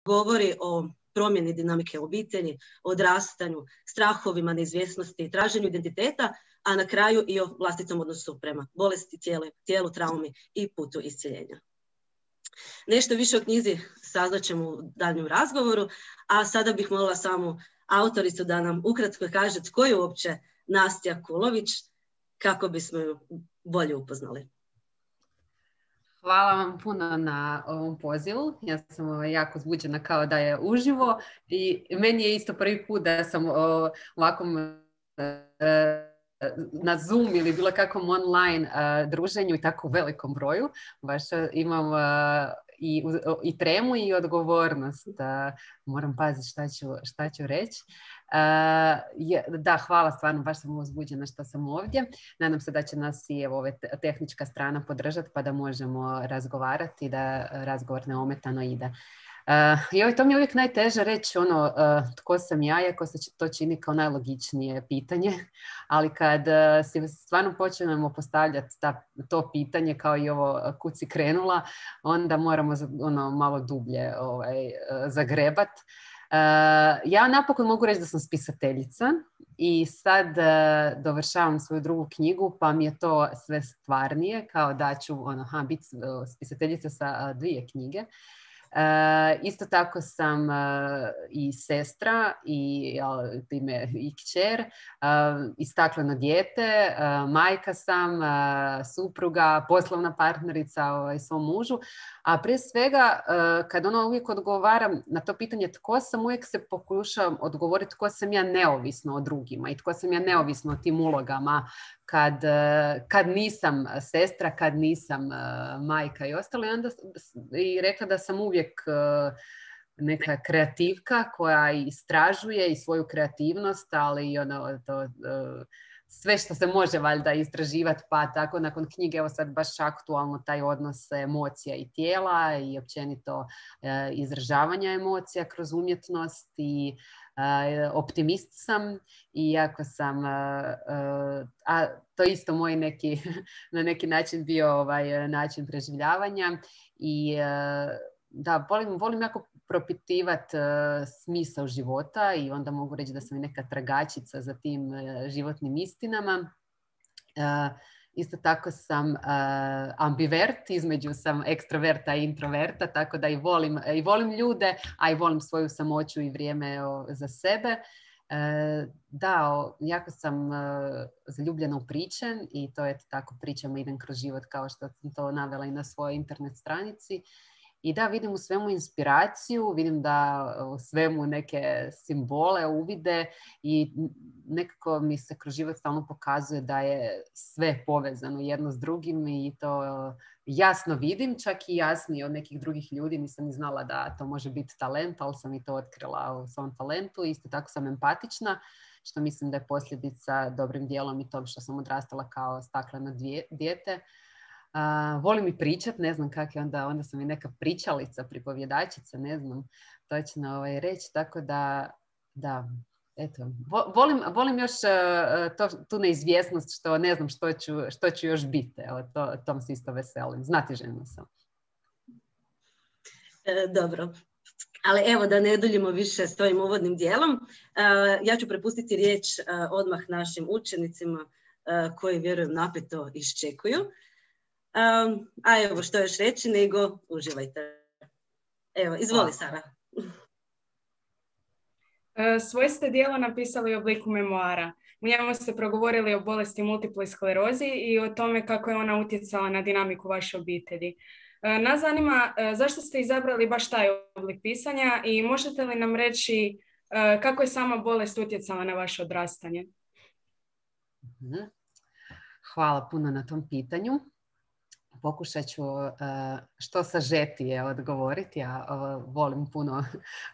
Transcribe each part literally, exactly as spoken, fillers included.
govori o promjeni dinamike obitelji, odrastanju, strahovima, neizvjesnosti, traženju identiteta, a na kraju i o vlastitom odnosu prema bolesti, tijelu, tijelu, traumi i putu iscjeljenja. Nešto više o knjizi saznat ćemo u daljnjem razgovoru, a sada bih molila samu autoricu da nam ukratko kaže tko je uopće Nastja Kulović, kako bismo ju bolje upoznali. Hvala vam puno na ovom pozivu. Ja sam jako uzbuđena kao da je uživo i meni je isto prvi put da sam ovakvom na Zoom ili bilo kakvom online druženju i tako u velikom broju. Baš imam i, i tremu i odgovornost. Moram paziti šta ću, šta ću reći. Da, hvala, stvarno, baš sam uzbuđena što sam ovdje. Nadam se da će nas i evo, ove tehnička strana podržati pa da možemo razgovarati i da razgovor neometano ide. Uh, joj, to mi je uvijek najteže reći ono, uh, tko sam ja, iako se to čini kao najlogičnije pitanje, ali kad uh, si stvarno počnemo postavljati ta, to pitanje kao i ovo kud si krenula, onda moramo ono, malo dublje ovaj, uh, zagrebat. Uh, ja napokon mogu reći da sam spisateljica i sad uh, dovršavam svoju drugu knjigu, pa mi je to sve stvarnije, kao da ću ono, ha, biti uh, spisateljica sa uh, dvije knjige. Uh, isto tako sam uh, i sestra i, uh, time, i kćer, uh, i stakleno dijete, uh, majka sam, uh, supruga, poslovna partnerica ovaj, svom mužu, a prije svega uh, kad ono uvijek odgovaram na to pitanje tko sam, uvijek se pokušavam odgovoriti tko sam ja neovisno o drugima i tko sam ja neovisno o tim ulogama kad, kad nisam sestra, kad nisam uh, majka i ostalo. I onda i rekla da sam uvijek uh, neka kreativka koja istražuje i svoju kreativnost, ali i ono, to, uh, sve što se može valjda istraživati, pa tako nakon knjige, evo sad baš aktualno taj odnos emocija i tijela i općenito uh, izražavanja emocija kroz umjetnost i Uh, optimist sam i jako sam, uh, uh, a to isto moj neki, na neki način bio ovaj način preživljavanja i uh, da, volim, volim jako propitivati uh, smisao života i onda mogu reći da sam i neka tragačica za tim uh, životnim istinama. Uh, Isto tako sam uh, ambivert, između sam ekstraverta i introverta, tako da i volim, i volim ljude, a i volim svoju samoću i vrijeme o, za sebe. Uh, da, o, jako sam uh, zaljubljena u priče i to je tako, pričama idem kroz život kao što sam to navela i na svojoj internet stranici. I da, vidim u svemu inspiraciju, vidim da u svemu neke simbole, uvide i nekako mi se kroz život stalno pokazuje da je sve povezano jedno s drugim i to jasno vidim, čak i jasnije od nekih drugih ljudi. Nisam ni znala da to može biti talent, ali sam i to otkrila u svom talentu. Isto tako sam empatična, što mislim da je posljedica dobrim dijelom i tom što sam odrastala kao stakleno dijete. Uh, volim i pričat, ne znam kak je onda, onda sam i neka pričalica, pripovjedačica, ne znam točno ovaj, reći, tako da, da, eto, volim, volim još uh, to, tu neizvjesnost što ne znam što ću, što ću još biti, evo, to, tom se isto veselim, znatiželjna sam. E, dobro, ali evo da ne duljimo više s tvojim uvodnim dijelom, uh, ja ću prepustiti riječ uh, odmah našim učenicima uh, koji vjerujem napeto iščekuju. Um, a evo što još reći nego uživajte. Evo, izvoli Sara. Svoje ste dijelo napisali u obliku memoara. U njemu ste progovorili o bolesti multiple sklerozi i o tome kako je ona utjecala na dinamiku vaše obitelji. Nas zanima zašto ste izabrali baš taj oblik pisanja i možete li nam reći kako je sama bolest utjecala na vaše odrastanje? Hvala puno na tom pitanju. Pokušat ću uh, što sažetije odgovoriti. Ja uh, volim puno,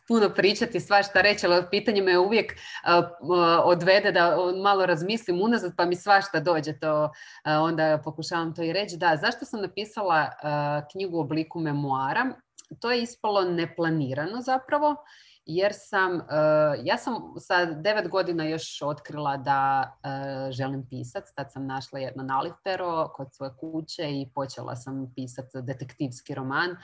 puno pričati, svašta reći, ali pitanje me uvijek uh, uh, odvede da malo razmislim unazad, pa mi svašta dođe to. Uh, onda pokušavam to i reći. Da, zašto sam napisala uh, knjigu u obliku memoara? To je ispalo neplanirano zapravo. Jer sam, uh, ja sam sa devet godina još otkrila da uh, želim pisati. Tad sam našla jedno nalivpero kod svoje kuće i počela sam pisati detektivski roman.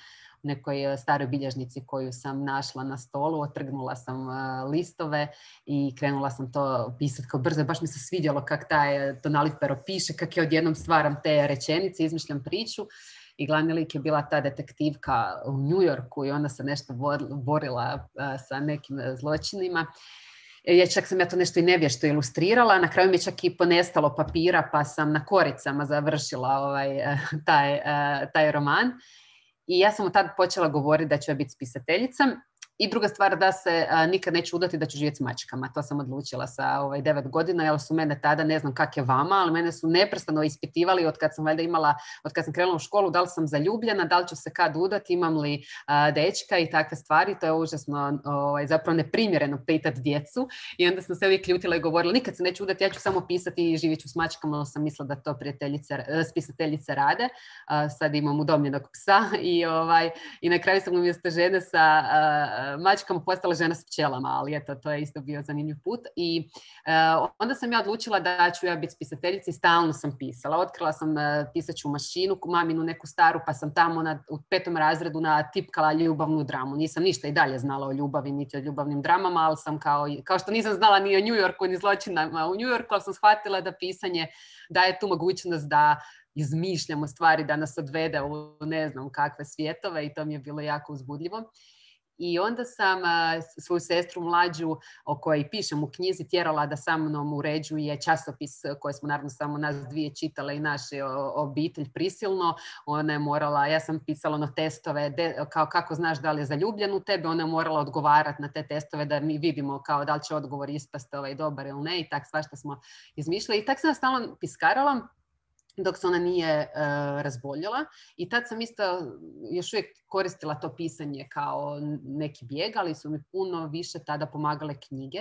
nekoj staroj bilježnici koju sam našla na stolu, otrgnula sam listove i krenula sam to pisati kao brzo. Baš mi se svidjelo kak taj Tonali Pero piše, kak je odjednom stvaram te rečenice, izmišljam priču. I glavni lik je bila ta detektivka u New Yorku i onda se nešto borila sa nekim zločinima. Ja, čak sam ja to nešto i nevješto ilustrirala, na kraju mi je čak i ponestalo papira pa sam na koricama završila ovaj, taj, taj roman. I ja sam od tada počela govoriti da ću ja biti spisateljica. I druga stvar, da se a, nikad neću udati da ću živjeti s mačkama. To sam odlučila sa ovaj, devet godina, jer su mene tada, ne znam kak je vama, ali mene su neprestano ispitivali od kad sam valjda imala, od kad sam krenula u školu, da li sam zaljubljena, da li ću se kad udati, imam li a, dečka i takve stvari. To je užasno ovaj, zapravo neprimjereno pitati djecu. I onda sam se uvijek ljutila i govorila, nikad se neću udati, ja ću samo pisati i živjet ću s mačkama, ali sam mislila da to prijateljice, spisateljice rade. A, sad imam udomljenog psa i, ovaj, i na kraju sam umjesto žene sa a, mačkama postala žena s pčelama, ali eto, to je isto bio zanimljiv put. I uh, onda sam ja odlučila da ću ja biti spisateljica i stalno sam pisala. Otkrila sam uh, pisaću mašinu, maminu neku staru, pa sam tamo na, u petom razredu natipkala ljubavnu dramu. Nisam ništa i dalje znala o ljubavi, niti o ljubavnim dramama, ali sam kao, kao što nisam znala ni o New Yorku, ni zločinama u New Yorku, ali sam shvatila da pisanje daje tu mogućnost da izmišljamo stvari, da nas odvede u ne znam kakve svjetove i to mi je bilo jako uzbudljivo. I onda sam uh, svoju sestru mlađu, o kojoj pišem u knjizi, tjerala da sa mnom uređuje časopis koji smo naravno samo nas dvije čitale i naše obitelj prisilno. Ona je morala, ja sam pisala ono testove, de, kao kako znaš da li je zaljubljen u tebe, ona je morala odgovarati na te testove da mi vidimo kao da li će odgovor ispasti ovaj dobar ili ne i tak svašta smo izmišljali. I tak sam stalno piskarala dok se ona nije uh, razboljela i tad sam isto još uvijek koristila to pisanje kao neki bijeg, ali su mi puno više tada pomagale knjige,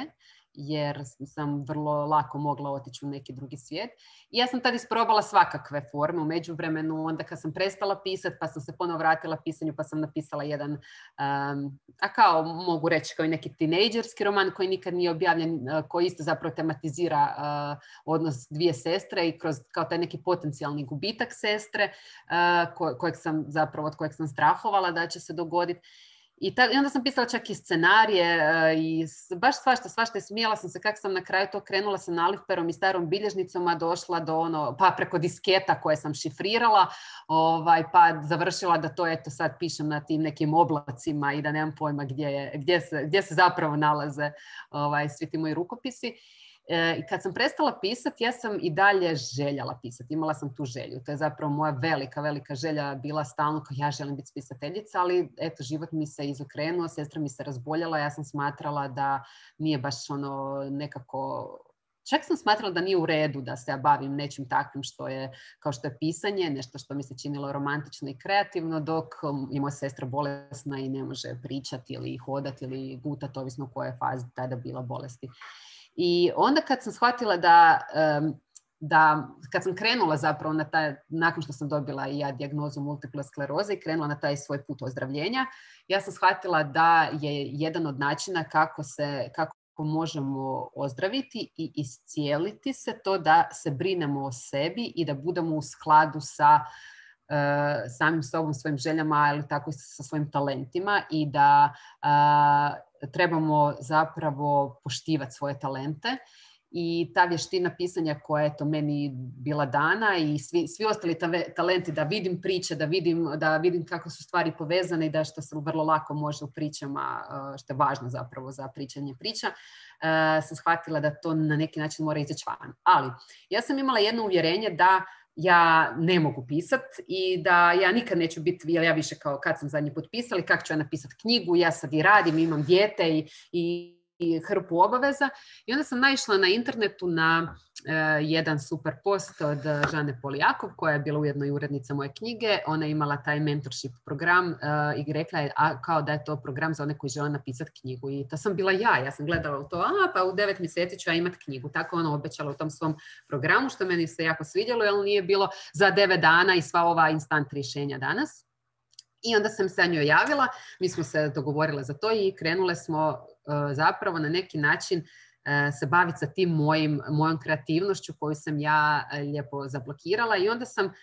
jer sam vrlo lako mogla otići u neki drugi svijet. I ja sam tad isprobala svakakve forme u međuvremenu, onda kad sam prestala pisati, pa sam se ponovo vratila pisanju, pa sam napisala jedan, um, a kao mogu reći kao i neki tinejdžerski roman koji nikad nije objavljen, uh, koji isto zapravo tematizira uh, odnos dvije sestre i kroz kao taj neki potencijalni gubitak sestre, uh, ko, kojeg sam zapravo, od kojeg sam strahovala da će se dogoditi. I, ta, I onda sam pisala čak i scenarije uh, i baš svašta, svašta i smijala sam se kako sam na kraju to krenula sa nalivperom i starom bilježnicom, a došla do ono, pa preko disketa koje sam šifrirala, ovaj, pa završila da to eto sad pišem na tim nekim oblacima i da nemam pojma gdje, je, gdje, se, gdje se zapravo nalaze ovaj, svi ti moji rukopisi. I kad sam prestala pisati, ja sam i dalje željela pisati. Imala sam tu želju. To je zapravo moja velika, velika želja bila stalno kao ja želim biti spisateljica, ali eto, život mi se izokrenuo, sestra mi se razboljela, ja sam smatrala da nije baš ono nekako... Čak sam smatrala da nije u redu da se ja bavim nečim takvim što je, kao što je pisanje, nešto što mi se činilo romantično i kreativno, dok je moja sestra bolesna i ne može pričati ili hodati ili gutati, ovisno u kojoj fazi tada bila bolesti. I onda kad sam shvatila da, da kad sam krenula zapravo na taj, nakon što sam dobila i ja dijagnozu multiple skleroze i krenula na taj svoj put ozdravljenja, ja sam shvatila da je jedan od načina kako se, kako možemo ozdraviti i iscijeliti se to da se brinemo o sebi i da budemo u skladu sa uh, samim sobom, svojim željama, ali tako i sa svojim talentima i da uh, trebamo zapravo poštivati svoje talente. I ta vještina pisanja koja je to meni bila dana i svi, svi ostali ta, talenti da vidim priče, da vidim, da vidim kako su stvari povezane i da što se vrlo lako može u pričama, što je važno zapravo za pričanje priča, sam shvatila da to na neki način mora izaći van. Ali ja sam imala jedno uvjerenje da ja ne mogu pisati i da ja nikad neću biti, jer ja više kao kad sam zadnji put pisala, kako ću ja napisati knjigu, ja sad i radim, imam dijete i, i i hrpu obaveza. I onda sam naišla na internetu na uh, jedan super post od Žane Polijakov, koja je bila ujedno i urednica moje knjige. Ona je imala taj mentorship program uh, i rekla je a, kao da je to program za one koji žele napisati knjigu. I to sam bila ja. Ja sam gledala u to, a pa u devet mjeseci ću ja imati knjigu. Tako ona obećala u tom svom programu, što meni se jako svidjelo, jer nije bilo za devet dana i sva ova instant rješenja danas. I onda sam se njoj javila, mi smo se dogovorile za to i krenule smo uh, zapravo na neki način uh, se baviti sa tim mojim, mojom kreativnošću koju sam ja uh, lijepo zablokirala. I onda sam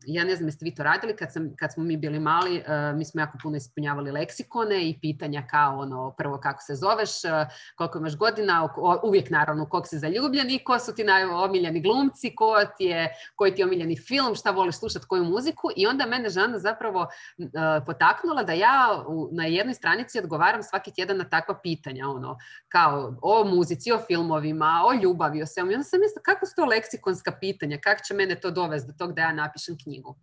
ja ne znam jeste vi to radili, kad, sam, kad smo mi bili mali, uh, mi smo jako puno ispunjavali leksikone i pitanja kao ono, prvo kako se zoveš, uh, koliko imaš godina, o, uvijek naravno koliko si zaljubljen i ko su ti najomiljeni glumci, ko ti je, koji ti je omiljeni film, šta voliš slušati, koju muziku. I onda mene Žana zapravo uh, potaknula da ja u, na jednoj stranici odgovaram svaki tjedan na takva pitanja, ono, kao o muzici, o filmovima, o ljubavi, o svemu. I onda sam mislila kako su to leksikonska pitanja, kako će mene to dovesti do toga da ja napišem knjigu.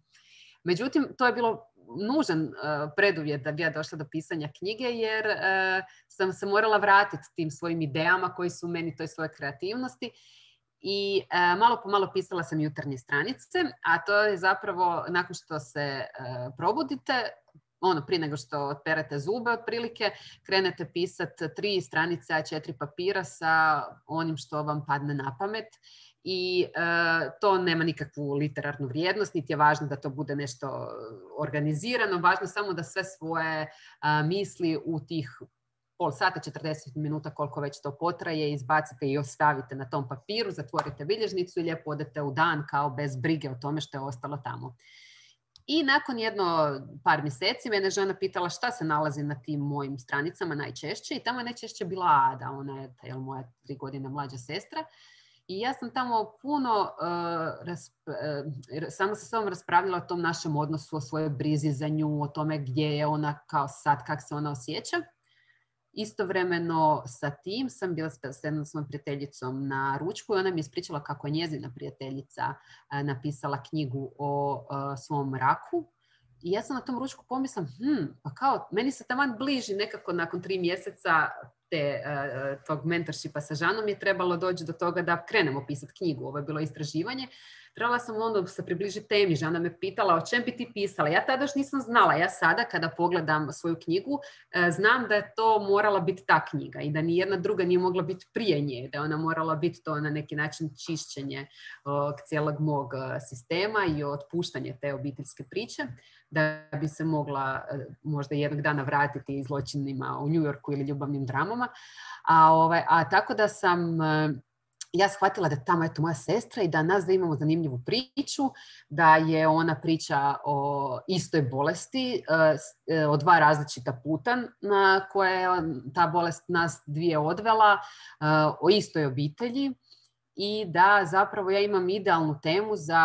Međutim, to je bilo nužan uh, preduvjet da bi ja došla do pisanja knjige, jer uh, sam se morala vratiti tim svojim idejama koji su meni toj svojoj kreativnosti. I uh, malo po malo pisala sam jutarnje stranice, a to je zapravo nakon što se uh, probudite, ono, prije nego što otperete zube otprilike, krenete pisati tri stranice A četiri papira sa onim što vam padne na pamet. I uh, to nema nikakvu literarnu vrijednost, niti je važno da to bude nešto organizirano, važno samo da sve svoje uh, misli u tih pol sata, četrdeset minuta, koliko već to potraje, izbacite i ostavite na tom papiru, zatvorite bilježnicu i lijepo odete u dan kao bez brige o tome što je ostalo tamo. I nakon jedno par mjeseci mene žena pitala šta se nalazi na tim mojim stranicama najčešće i tamo je najčešće bila Ada, ona je jel, moja tri godine mlađa sestra. I ja sam tamo puno uh, rasp- uh, samo sa sobom raspravljala o tom našem odnosu, o svojoj brizi za nju, o tome gdje je ona kao sad, kako se ona osjeća. Istovremeno sa tim sam bila s jednom svojom prijateljicom na ručku i ona mi je ispričala kako je njezina prijateljica uh, napisala knjigu o uh, svom raku. I ja sam na tom ručku pomislam, hm, pa kao, meni se taman bliži nekako nakon tri mjeseca te, uh, tog mentorshipa sa Žanom je trebalo doći do toga da krenemo pisati knjigu. Ovo je bilo istraživanje. Trebala sam onda se približiti temi. Žana me pitala o čem bi ti pisala. Ja tada još nisam znala. Ja sada kada pogledam svoju knjigu uh, znam da je to morala biti ta knjiga i da ni jedna druga nije mogla biti prije nje. Da je ona morala biti to na neki način čišćenje uh, cijelog mog uh, sistema i otpuštanje te obiteljske priče. Da bi se mogla uh, možda jednog dana vratiti zločinima u New Yorku ili ljubavnim dramama. A, ovaj, a tako da sam uh, ja shvatila da tamo je to moja sestra i da nas da imamo zanimljivu priču, da je ona priča o istoj bolesti, uh, o dva različita puta na koje je ta bolest nas dvije odvela, uh, o istoj obitelji. I da zapravo ja imam idealnu temu za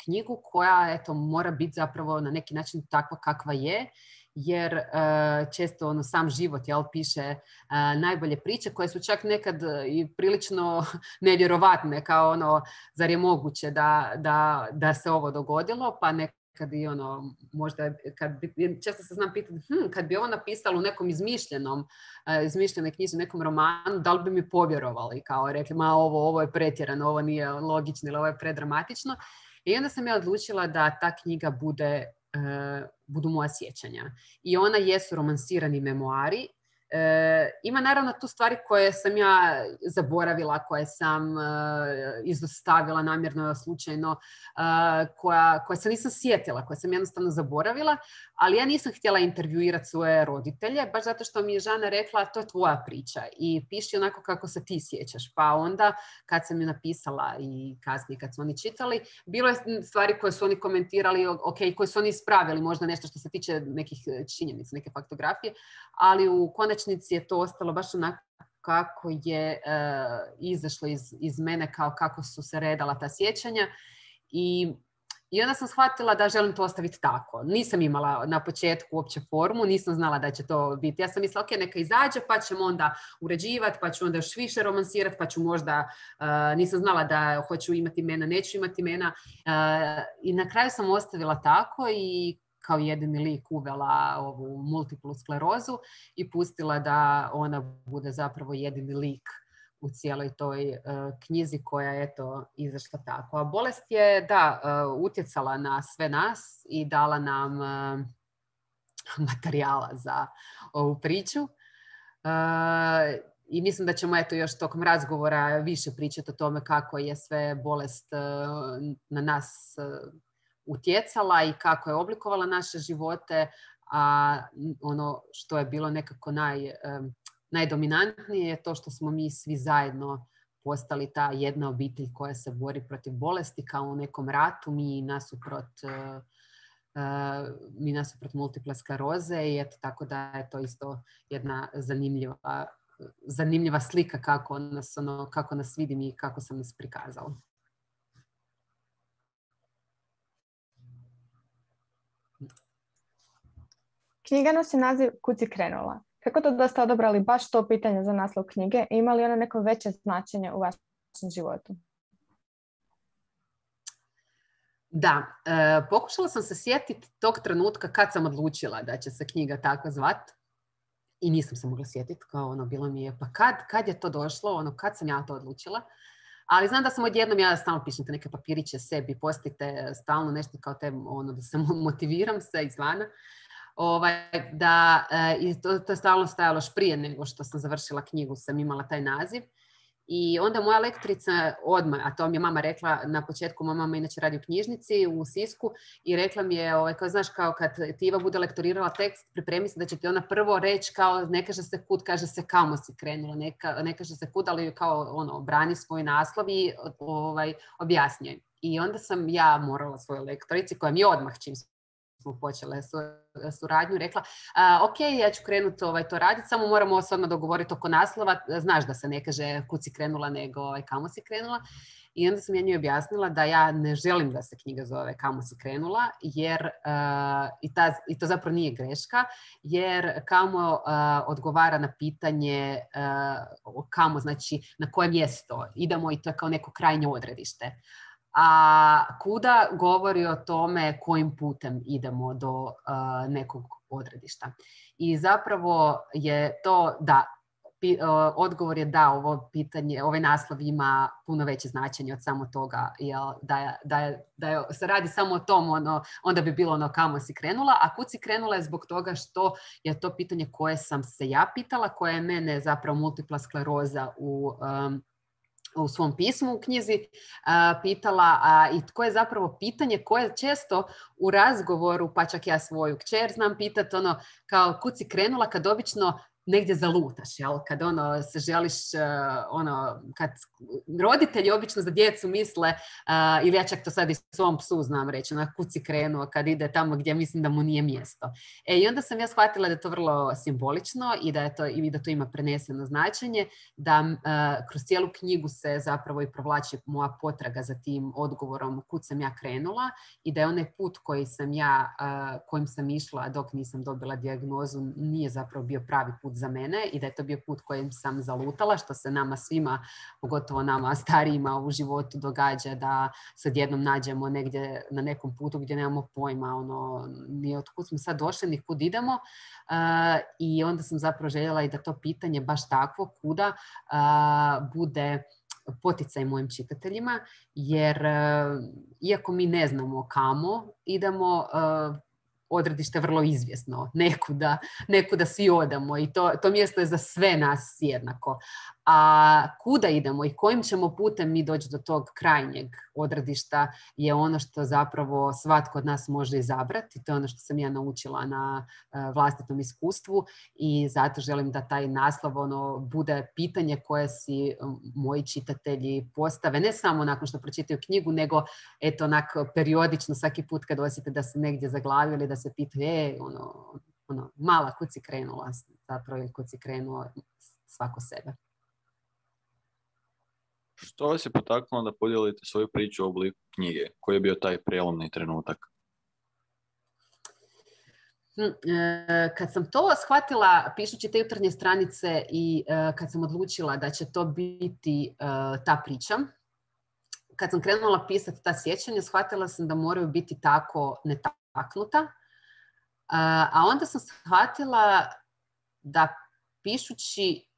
knjigu koja eto, mora biti zapravo na neki način takva kakva je, jer uh, često ono, sam život jel, piše uh, najbolje priče koje su čak nekad i prilično nevjerovatne, kao ono, zar je moguće da, da, da se ovo dogodilo, pa nekad i ono, možda, kad bi, često se znam pitati, hm, kad bi ovo napisala u nekom izmišljenom, uh, izmišljenoj knjizi, u nekom romanu, da li bi mi povjerovali, kao rekli, ma ovo, ovo je pretjerano, ovo nije logično ili ovo je predramatično. I onda sam ja odlučila da ta knjiga bude Uh, budu moja sjećanja. I ona jesu romansirani memoari. Uh, ima naravno tu stvari koje sam ja zaboravila, koje sam uh, izostavila namjerno, slučajno, uh, koja, koje se nisam sjetila, koje sam jednostavno zaboravila, ali ja nisam htjela intervjuirati svoje roditelje, baš zato što mi je Žana rekla to je tvoja priča i piši onako kako se ti sjećaš. Pa onda kad sam ju napisala i kasnije kad su oni čitali, bilo je stvari koje su oni komentirali, ok, koje su oni ispravili, možda nešto što se tiče nekih činjenica, neke faktografije, ali u konačnici je to ostalo baš onako kako je uh, izašlo iz, iz mene, kao kako su se redala ta sjećanja. I I onda sam shvatila da želim to ostaviti tako. Nisam imala na početku uopće formu, nisam znala da će to biti. Ja sam mislila, ok, neka izađe, pa ćemo onda uređivati, pa ću onda još više romansirati, pa ću možda, uh, nisam znala da hoću imati imena, neću imati imena. Uh, I na kraju sam ostavila tako i kao jedini lik uvela ovu multiplu sklerozu i pustila da ona bude zapravo jedini lik u cijeloj toj uh, knjizi koja je eto izašla tako. A bolest je, da, uh, utjecala na sve nas i dala nam uh, materijala za ovu priču. Uh, I mislim da ćemo eto još tokom razgovora više pričati o tome kako je sve bolest uh, na nas uh, utjecala i kako je oblikovala naše živote, a ono što je bilo nekako naj... Um, najdominantnije je to što smo mi svi zajedno postali ta jedna obitelj koja se bori protiv bolesti kao u nekom ratu, mi nasuprot, uh, uh, mi nasuprot multiple skleroze i eto tako da je to isto jedna zanimljiva, zanimljiva slika kako nas, ono, kako nas vidim i kako sam nas prikazala. Knjiga nosi naziv Kud si krenula. Kako to da ste odabrali baš to pitanje za naslov knjige? Ima li ono neko veće značenje u vašem životu? Da, e, pokušala sam se sjetiti tog trenutka kad sam odlučila da će se knjiga tako zvat i nisam se mogla sjetiti, kao ono, bilo mi je, pa kad, kad je to došlo, ono, kad sam ja to odlučila. Ali znam da sam odjednom, ja stalno pišem te neke papiriće sebi, postite stalno nešto kao te, ono, da se motiviram se izvana. Ovaj, da, e, to, to je stalno stajalo još prije nego što sam završila knjigu, sam imala taj naziv. I onda moja lektorica odmah, a to mi je mama rekla na početku, moja mama inače radi u knjižnici u Sisku i rekla mi je, ovaj, kao, znaš, kao kad ti Iva bude lektorirala tekst, pripremi se da će ti ona prvo reći kao ne kaže se kud, kaže se kamo si krenula, neka, ne kaže se kud, ali kao ono, brani svoj naslov i ovaj, objasnjuje. I onda sam ja morala svojoj lektorici, koja mi je odmah čim smo počele suradnju, rekla uh, ok, ja ću krenuti ovaj, to raditi, samo moramo se odmah dogovoriti oko naslova, znaš da se ne kaže kud si krenula, nego ovaj, kamo si krenula. I onda sam ja njoj objasnila da ja ne želim da se knjiga zove Kamo si krenula, jer uh, i, ta, i to zapravo nije greška, jer kamo uh, odgovara na pitanje uh, kamo, znači na koje mjesto idemo i to je kao neko krajnje odredište. A kuda govori o tome kojim putem idemo do uh, nekog odredišta. I zapravo je to da, pi, uh, odgovor je da ovo pitanje, ovaj naslov ima puno veće značenje od samo toga, jel, da, je, da, je, da je, se radi samo o tom, ono, onda bi bilo ono kamo si krenula, a kud si krenula je zbog toga što je to pitanje koje sam se ja pitala, koje je mene zapravo multipla skleroza u um, u svom pismu u knjizi a, pitala a, i tko je zapravo pitanje koje često u razgovoru, pa čak ja svoju kćer znam pitati, ono, kao kud si krenula kad obično negdje zalutaš, jel? Kad ono, se želiš, uh, ono, kad roditelji obično za djecu misle, uh, ili ja čak to sad i svom psu znam reći, ono, kud si krenuo kad ide tamo gdje mislim da mu nije mjesto. E, i onda sam ja shvatila da je to vrlo simbolično i da, je to, i da to ima preneseno značenje, da uh, kroz cijelu knjigu se zapravo i provlači moja potraga za tim odgovorom kud sam ja krenula i da je onaj put koji sam ja, uh, kojim sam išla dok nisam dobila dijagnozu nije zapravo bio pravi put za mene i da je to bio put kojim sam zalutala, što se nama svima, pogotovo nama starijima u životu događa da se odjednom nađemo negdje na nekom putu gdje nemamo pojma, ono, ni od kud smo sad došli, ni kud idemo. Uh, I onda sam zapravo željela i da to pitanje baš takvo, kuda, uh, bude poticaj mojim čitateljima, jer uh, iako mi ne znamo kamo idemo, uh, odredište vrlo izvjesno, nekuda, nekuda svi odamo i to, to mjesto je za sve nas jednako. A kuda idemo i kojim ćemo putem mi doći do tog krajnjeg odredišta je ono što zapravo svatko od nas može izabrati. To je ono što sam ja naučila na uh, vlastitom iskustvu i zato želim da taj naslov ono, bude pitanje koje si um, moji čitatelji postave, ne samo nakon što pročitaju knjigu, nego eto onako periodično svaki put kad osjete da su negdje zaglavili, da se pitaju, e, ono, ono, mala, kud si krenula, zapravo ili kud si krenuo svako sebe. Što vas je potaknulo da podijelite svoju priču u obliku knjige? Koji je bio taj prijelomni trenutak? Kad sam to shvatila pišući te jutarnje stranice i kad sam odlučila da će to biti ta priča, kad sam krenula pisati ta sjećanja, shvatila sam da moraju biti tako netaknuta. A onda sam shvatila da pišući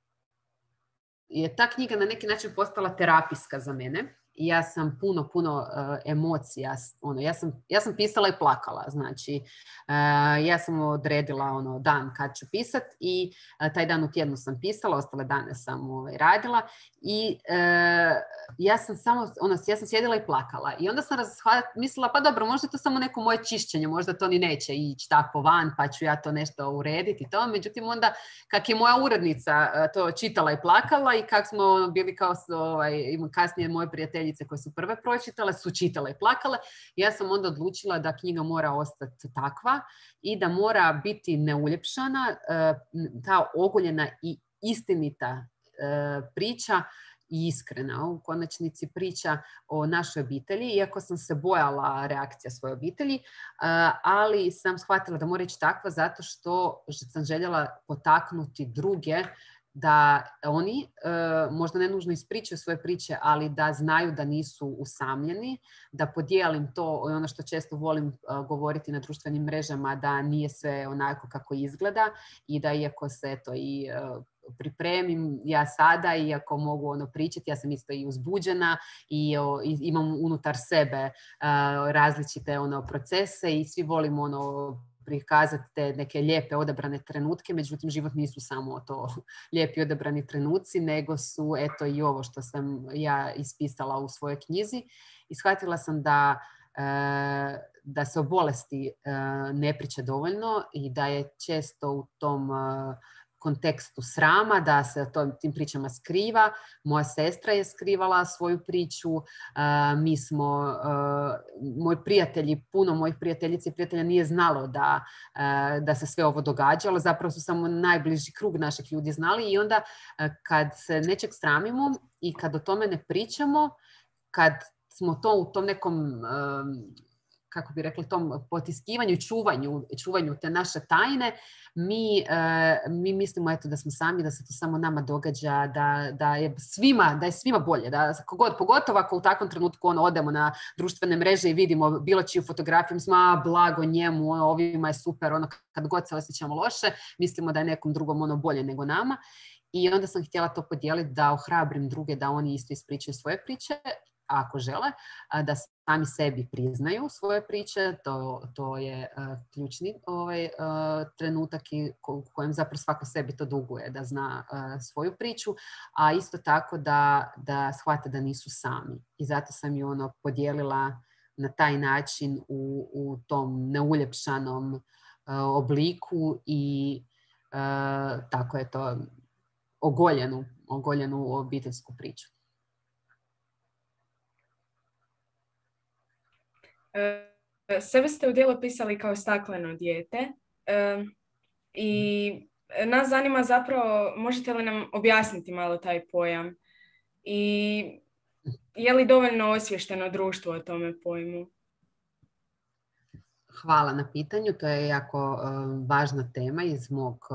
je ta knjiga na neki način postala terapijska za mene, i ja sam puno, puno uh, emocija, ono, ja sam, ja sam pisala i plakala, znači uh, ja sam odredila ono, dan kad ću pisat i uh, taj dan u tjednu sam pisala, ostale dane sam ovaj, radila i uh, ja sam samo, ono, ja sam sjedila i plakala i onda sam razhvala, mislila, pa dobro, možda je to samo neko moje čišćenje, možda to ni neće ići tako van, pa ću ja to nešto urediti i to, međutim onda kak je moja urednica uh, to čitala i plakala i kak smo bili kao ovaj, kasnije moje prijateljice koje su prve pročitale, su čitale i plakale. Ja sam onda odlučila da knjiga mora ostati takva i da mora biti neuljepšana, ta ogoljena i istinita priča i iskrena. U konačnici priča o našoj obitelji, iako sam se bojala reakcija svoje obitelji, ali sam shvatila da mora ići takva zato što sam željela potaknuti druge da oni e, možda ne nužno ispričaju svoje priče, ali da znaju da nisu usamljeni, da podijelim to, ono što često volim e, govoriti na društvenim mrežama, da nije sve onako kako izgleda i da iako se to i e, pripremim ja sada, iako mogu ono pričati, ja sam isto i uzbuđena i, o, i imam unutar sebe e, različite ono procese i svi volimo ono prikazati te neke lijepe odabrane trenutke, međutim život nisu samo to lijepi odabrani trenuci, nego su eto i ovo što sam ja ispisala u svojoj knjizi i shvatila sam da, e, da se o bolesti e, ne priča dovoljno i da je često u tom e, kontekstu srama, da se o tim pričama skriva. Moja sestra je skrivala svoju priču. Uh, mi smo, uh, moji prijatelji, puno mojih prijateljica i prijatelja nije znalo da, uh, da se sve ovo događalo. Zapravo su samo najbliži krug naših ljudi znali i onda uh, kad se nečeg sramimo i kad o tome ne pričamo, kad smo to u tom nekom um, kako bi rekli, tom potiskivanju i čuvanju, čuvanju te naše tajne, mi, e, mi mislimo eto, da smo sami, da se to samo nama događa, da, da, je, svima, da je svima bolje. Da, kogod, pogotovo ako u takvom trenutku ono, odemo na društvene mreže i vidimo bilo čiju fotografiju, mislimo, a, blago njemu, ono, ovima je super, ono, kad god se osjećamo loše, mislimo da je nekom drugom ono, bolje nego nama. I onda sam htjela to podijeliti, da ohrabrim druge, da oni isto ispričaju svoje priče, ako žele, da sami sebi priznaju svoje priče, to, to je uh, ključni ovaj, uh, trenutak i u kojem zapravo svako sebi to duguje, da zna uh, svoju priču, a isto tako da, da shvate da nisu sami. I zato sam ju ono podijelila na taj način u, u tom neuljepšanom uh, obliku i uh, tako je to ogoljenu, ogoljenu obiteljsku priču. Sebe ste u dijelu pisali kao stakleno dijete i nas zanima zapravo, možete li nam objasniti malo taj pojam i je li dovoljno osviješteno društvo o tome pojmu? Hvala na pitanju, to je jako uh, važna tema iz mog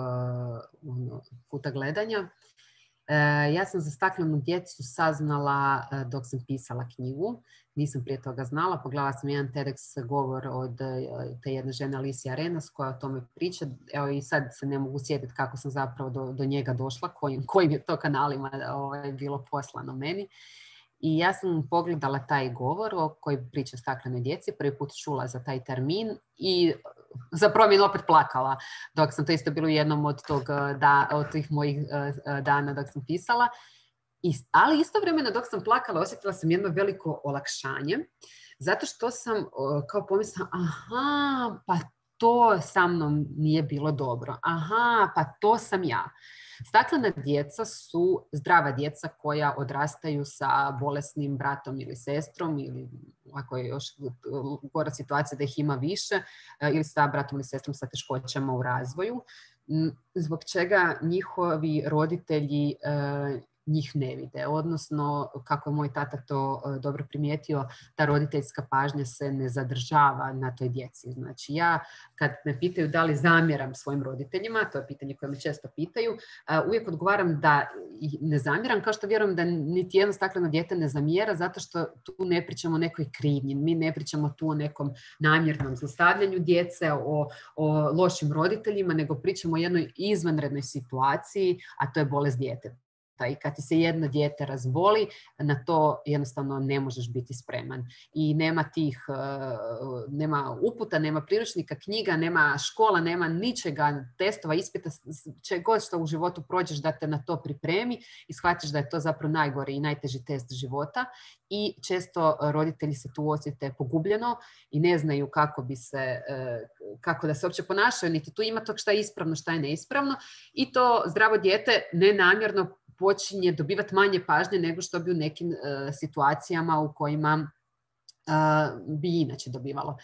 uh, kuta gledanja. Uh, ja sam za staklenu djecu saznala uh, dok sam pisala knjigu. Nisam prije toga znala. Pogledala sam jedan TEDx govor od uh, te jedne žene Alicia Arenas koja o tome priča. Evo i sad se ne mogu sjetiti kako sam zapravo do, do njega došla, kojim, kojim je to kanalima ovaj, bilo poslano meni. I ja sam pogledala taj govor o koji priča o staklenoj djeci, prvi put čula za taj termin i za promjenu opet plakala, dok sam to isto bilo u jednom od, tog, da, od tih mojih uh, dana dok sam pisala. I, ali istovremeno dok sam plakala osjetila sam jedno veliko olakšanje, zato što sam uh, kao pomislila, aha, pa to sa mnom nije bilo dobro, aha, pa to sam ja. Staklena djeca su zdrava djeca koja odrastaju sa bolesnim bratom ili sestrom ili ako je još gora situacija da ih ima više ili sa bratom ili sestrom sa teškoćama u razvoju, zbog čega njihovi roditelji njih ne vide. Odnosno, kako je moj tata to dobro primijetio, ta roditeljska pažnja se ne zadržava na toj djeci. Znači ja, kad me pitaju da li zamjeram svojim roditeljima, to je pitanje koje me često pitaju, uvijek odgovaram da ne zamjeram, kao što vjerujem da niti jedno stakleno dijete ne zamjera, zato što tu ne pričamo o nekoj krivnji, mi ne pričamo tu o nekom namjernom zlostavljanju djece, o, o lošim roditeljima, nego pričamo o jednoj izvanrednoj situaciji, a to je bolest djeteta. i kad ti se jedno dijete razboli, na to jednostavno ne možeš biti spreman. I nema tih, nema uputa, nema priručnika, knjiga, nema škola, nema ničega, testova, ispita, če god što u životu prođeš da te na to pripremi i shvatiš da je to zapravo najgori i najteži test života. I često roditelji se tu osjete pogubljeno i ne znaju kako bi se, kako da se uopće ponašaju, niti tu ima tog šta je ispravno, šta je neispravno. I to zdravo dijete nenamjerno počinje dobivati manje pažnje nego što bi u nekim uh, situacijama u kojima uh, bi inače dobivalo.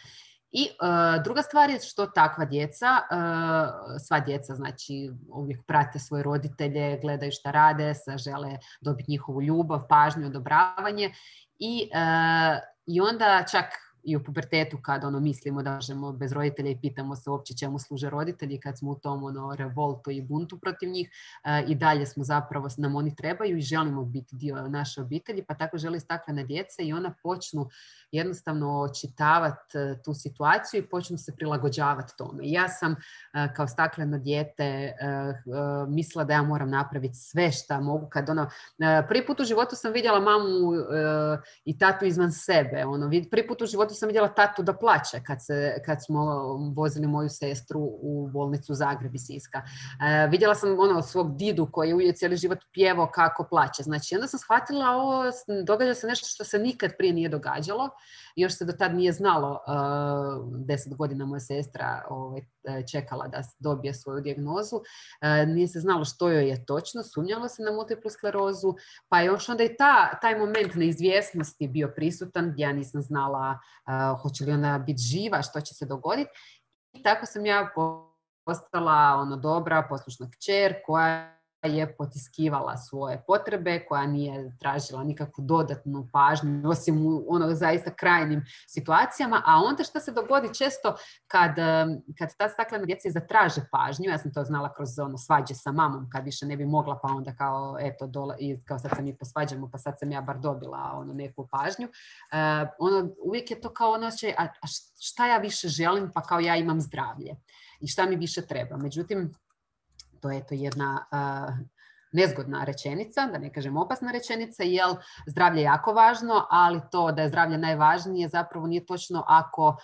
I uh, druga stvar je što takva djeca, uh, sva djeca znači uvijek prate svoje roditelje, gledaju šta rade, žele dobiti njihovu ljubav, pažnju, odobravanje i, uh, i onda čak i u pubertetu kad ono mislimo da možemo bez roditelja i pitamo se uopće čemu služe roditelji, kad smo u tom ono revoltu i buntu protiv njih, uh, i dalje smo zapravo, nam oni trebaju i želimo biti dio naše obitelji, pa tako želi staklena djeca i ona počnu jednostavno očitavati uh, tu situaciju i počnu se prilagođavati tome. Ja sam uh, kao stakleno dijete uh, uh, mislila da ja moram napraviti sve šta mogu. Kad ono, uh, prvi put u životu sam vidjela mamu uh, i tatu izvan sebe. Ono, prvi put u životu sam vidjela tatu da plače kad, se, kad smo vozili moju sestru u bolnicu Zagreb iz Siska. Uh, vidjela sam ono, svog didu koji je cijeli život pjevao kako plače. Znači, onda sam shvatila ovo, događa se nešto što se nikad prije nije događalo. Još se do tad nije znalo, uh, deset godina moja sestra ovaj, čekala da dobije svoju dijagnozu. Uh, nije se znalo što joj je točno, sumnjalo se na multiplu sklerozu, pa je još onda i ta, taj moment neizvjesnosti bio prisutan, gdje ja nisam znala uh, hoće li ona biti živa, što će se dogoditi. I tako sam ja postala ono, dobra, poslušna kćer koja je potiskivala svoje potrebe, koja nije tražila nikakvu dodatnu pažnju, osim u ono zaista krajnim situacijama. A onda što se dogodi često kad, kad ta staklena djeca zatraže pažnju, ja sam to znala kroz ono svađe sa mamom, kad više ne bi mogla, pa onda kao eto dole, i kao sad se mi posvađamo, pa sad sam ja bar dobila ono neku pažnju. Uh, ono, uvijek je to kao ono, a, a šta ja više želim, pa kao ja imam zdravlje i šta mi više treba. Međutim, to je to jedna uh, nezgodna rečenica, da ne kažem opasna rečenica, jer zdravlje je jako važno, ali to da je zdravlje najvažnije zapravo nije točno ako, uh,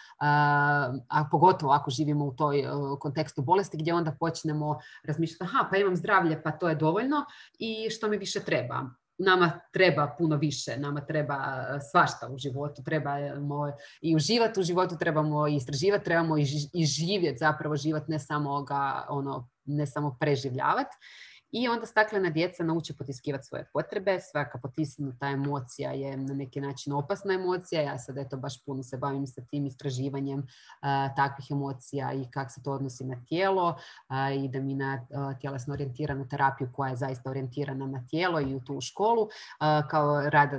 a pogotovo ako živimo u toj uh, kontekstu bolesti gdje onda počnemo razmišljati, aha, pa imam zdravlje, pa to je dovoljno i što mi više treba. Nama treba puno više, nama treba svašta u životu, trebamo i uživati u životu, trebamo i istraživati, trebamo i živjeti, zapravo život, ne samo ga, ono, ne samo preživljavati. I onda staklena djeca nauče potiskivati svoje potrebe. Svaka potisnuta emocija je na neki način opasna emocija. Ja sad eto baš puno se bavim sa tim istraživanjem uh, takvih emocija i kako se to odnosi na tijelo uh, i da mi na uh, tjelesno orijentiranu terapiju koja je zaista orijentirana na tijelo i u tu školu uh, kao rad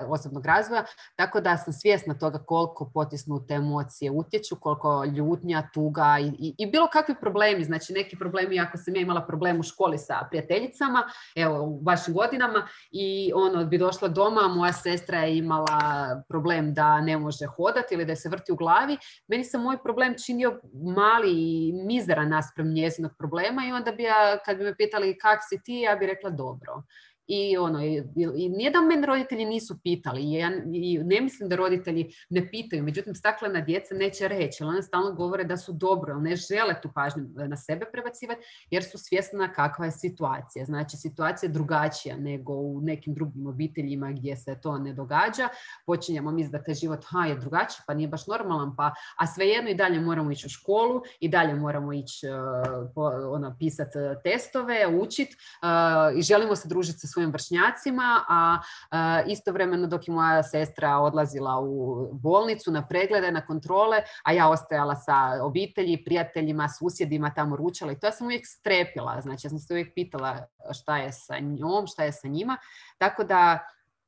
osobnog razvoja. Tako da sam svjesna toga koliko potisnute emocije utječu, koliko ljutnja, tuga i, i, i bilo kakvi problemi. Znači neki problemi, ako sam ja imala problem u školi sa prijateljima, prijateljicama, evo, u vašim godinama i ono bi došla doma, moja sestra je imala problem da ne može hodati ili da se vrti u glavi. Meni se moj problem činio mali i mizeran naspram njezinog problema i onda bi ja, kad bi me pitali kak si ti, ja bi rekla dobro. I, ono, i, i nijedan mene roditelji nisu pitali. I, ja, i ne mislim da roditelji ne pitaju. Međutim, staklena djeca neće reći. Ona stalno govore da su dobro, ne žele tu pažnju na sebe prebacivati jer su svjesna kakva je situacija. Znači, situacija je drugačija nego u nekim drugim obiteljima gdje se to ne događa. Počinjemo misliti da taj život ha, je drugačiji, pa nije baš normalan, pa, a svejedno i dalje moramo ići u školu, i dalje moramo ići uh, po, ono, pisati testove, učiti uh, i želimo se družiti sa svojim vršnjacima, a, a istovremeno dok je moja sestra odlazila u bolnicu na preglede, na kontrole, a ja ostajala sa obitelji, prijateljima, susjedima tamo ručala i to ja sam uvijek strepila. Znači ja sam se uvijek pitala šta je sa njom, šta je sa njima. Tako da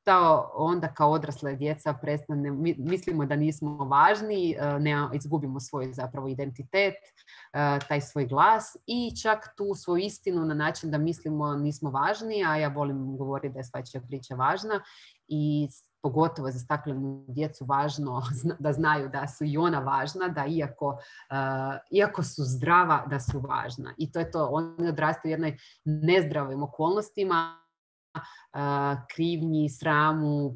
to onda kao odrasle djeca prestane, mislimo da nismo važni, ne, izgubimo svoj zapravo identitet, taj svoj glas i čak tu svoju istinu na način da mislimo nismo važni, a ja volim govoriti da je svačija priča važna i pogotovo za staklenu djecu važno da znaju da su i ona važna, da iako, uh, iako su zdrava, da su važna. I to je to, oni odrastaju u jednoj nezdravim okolnostima, krivnji, sramu,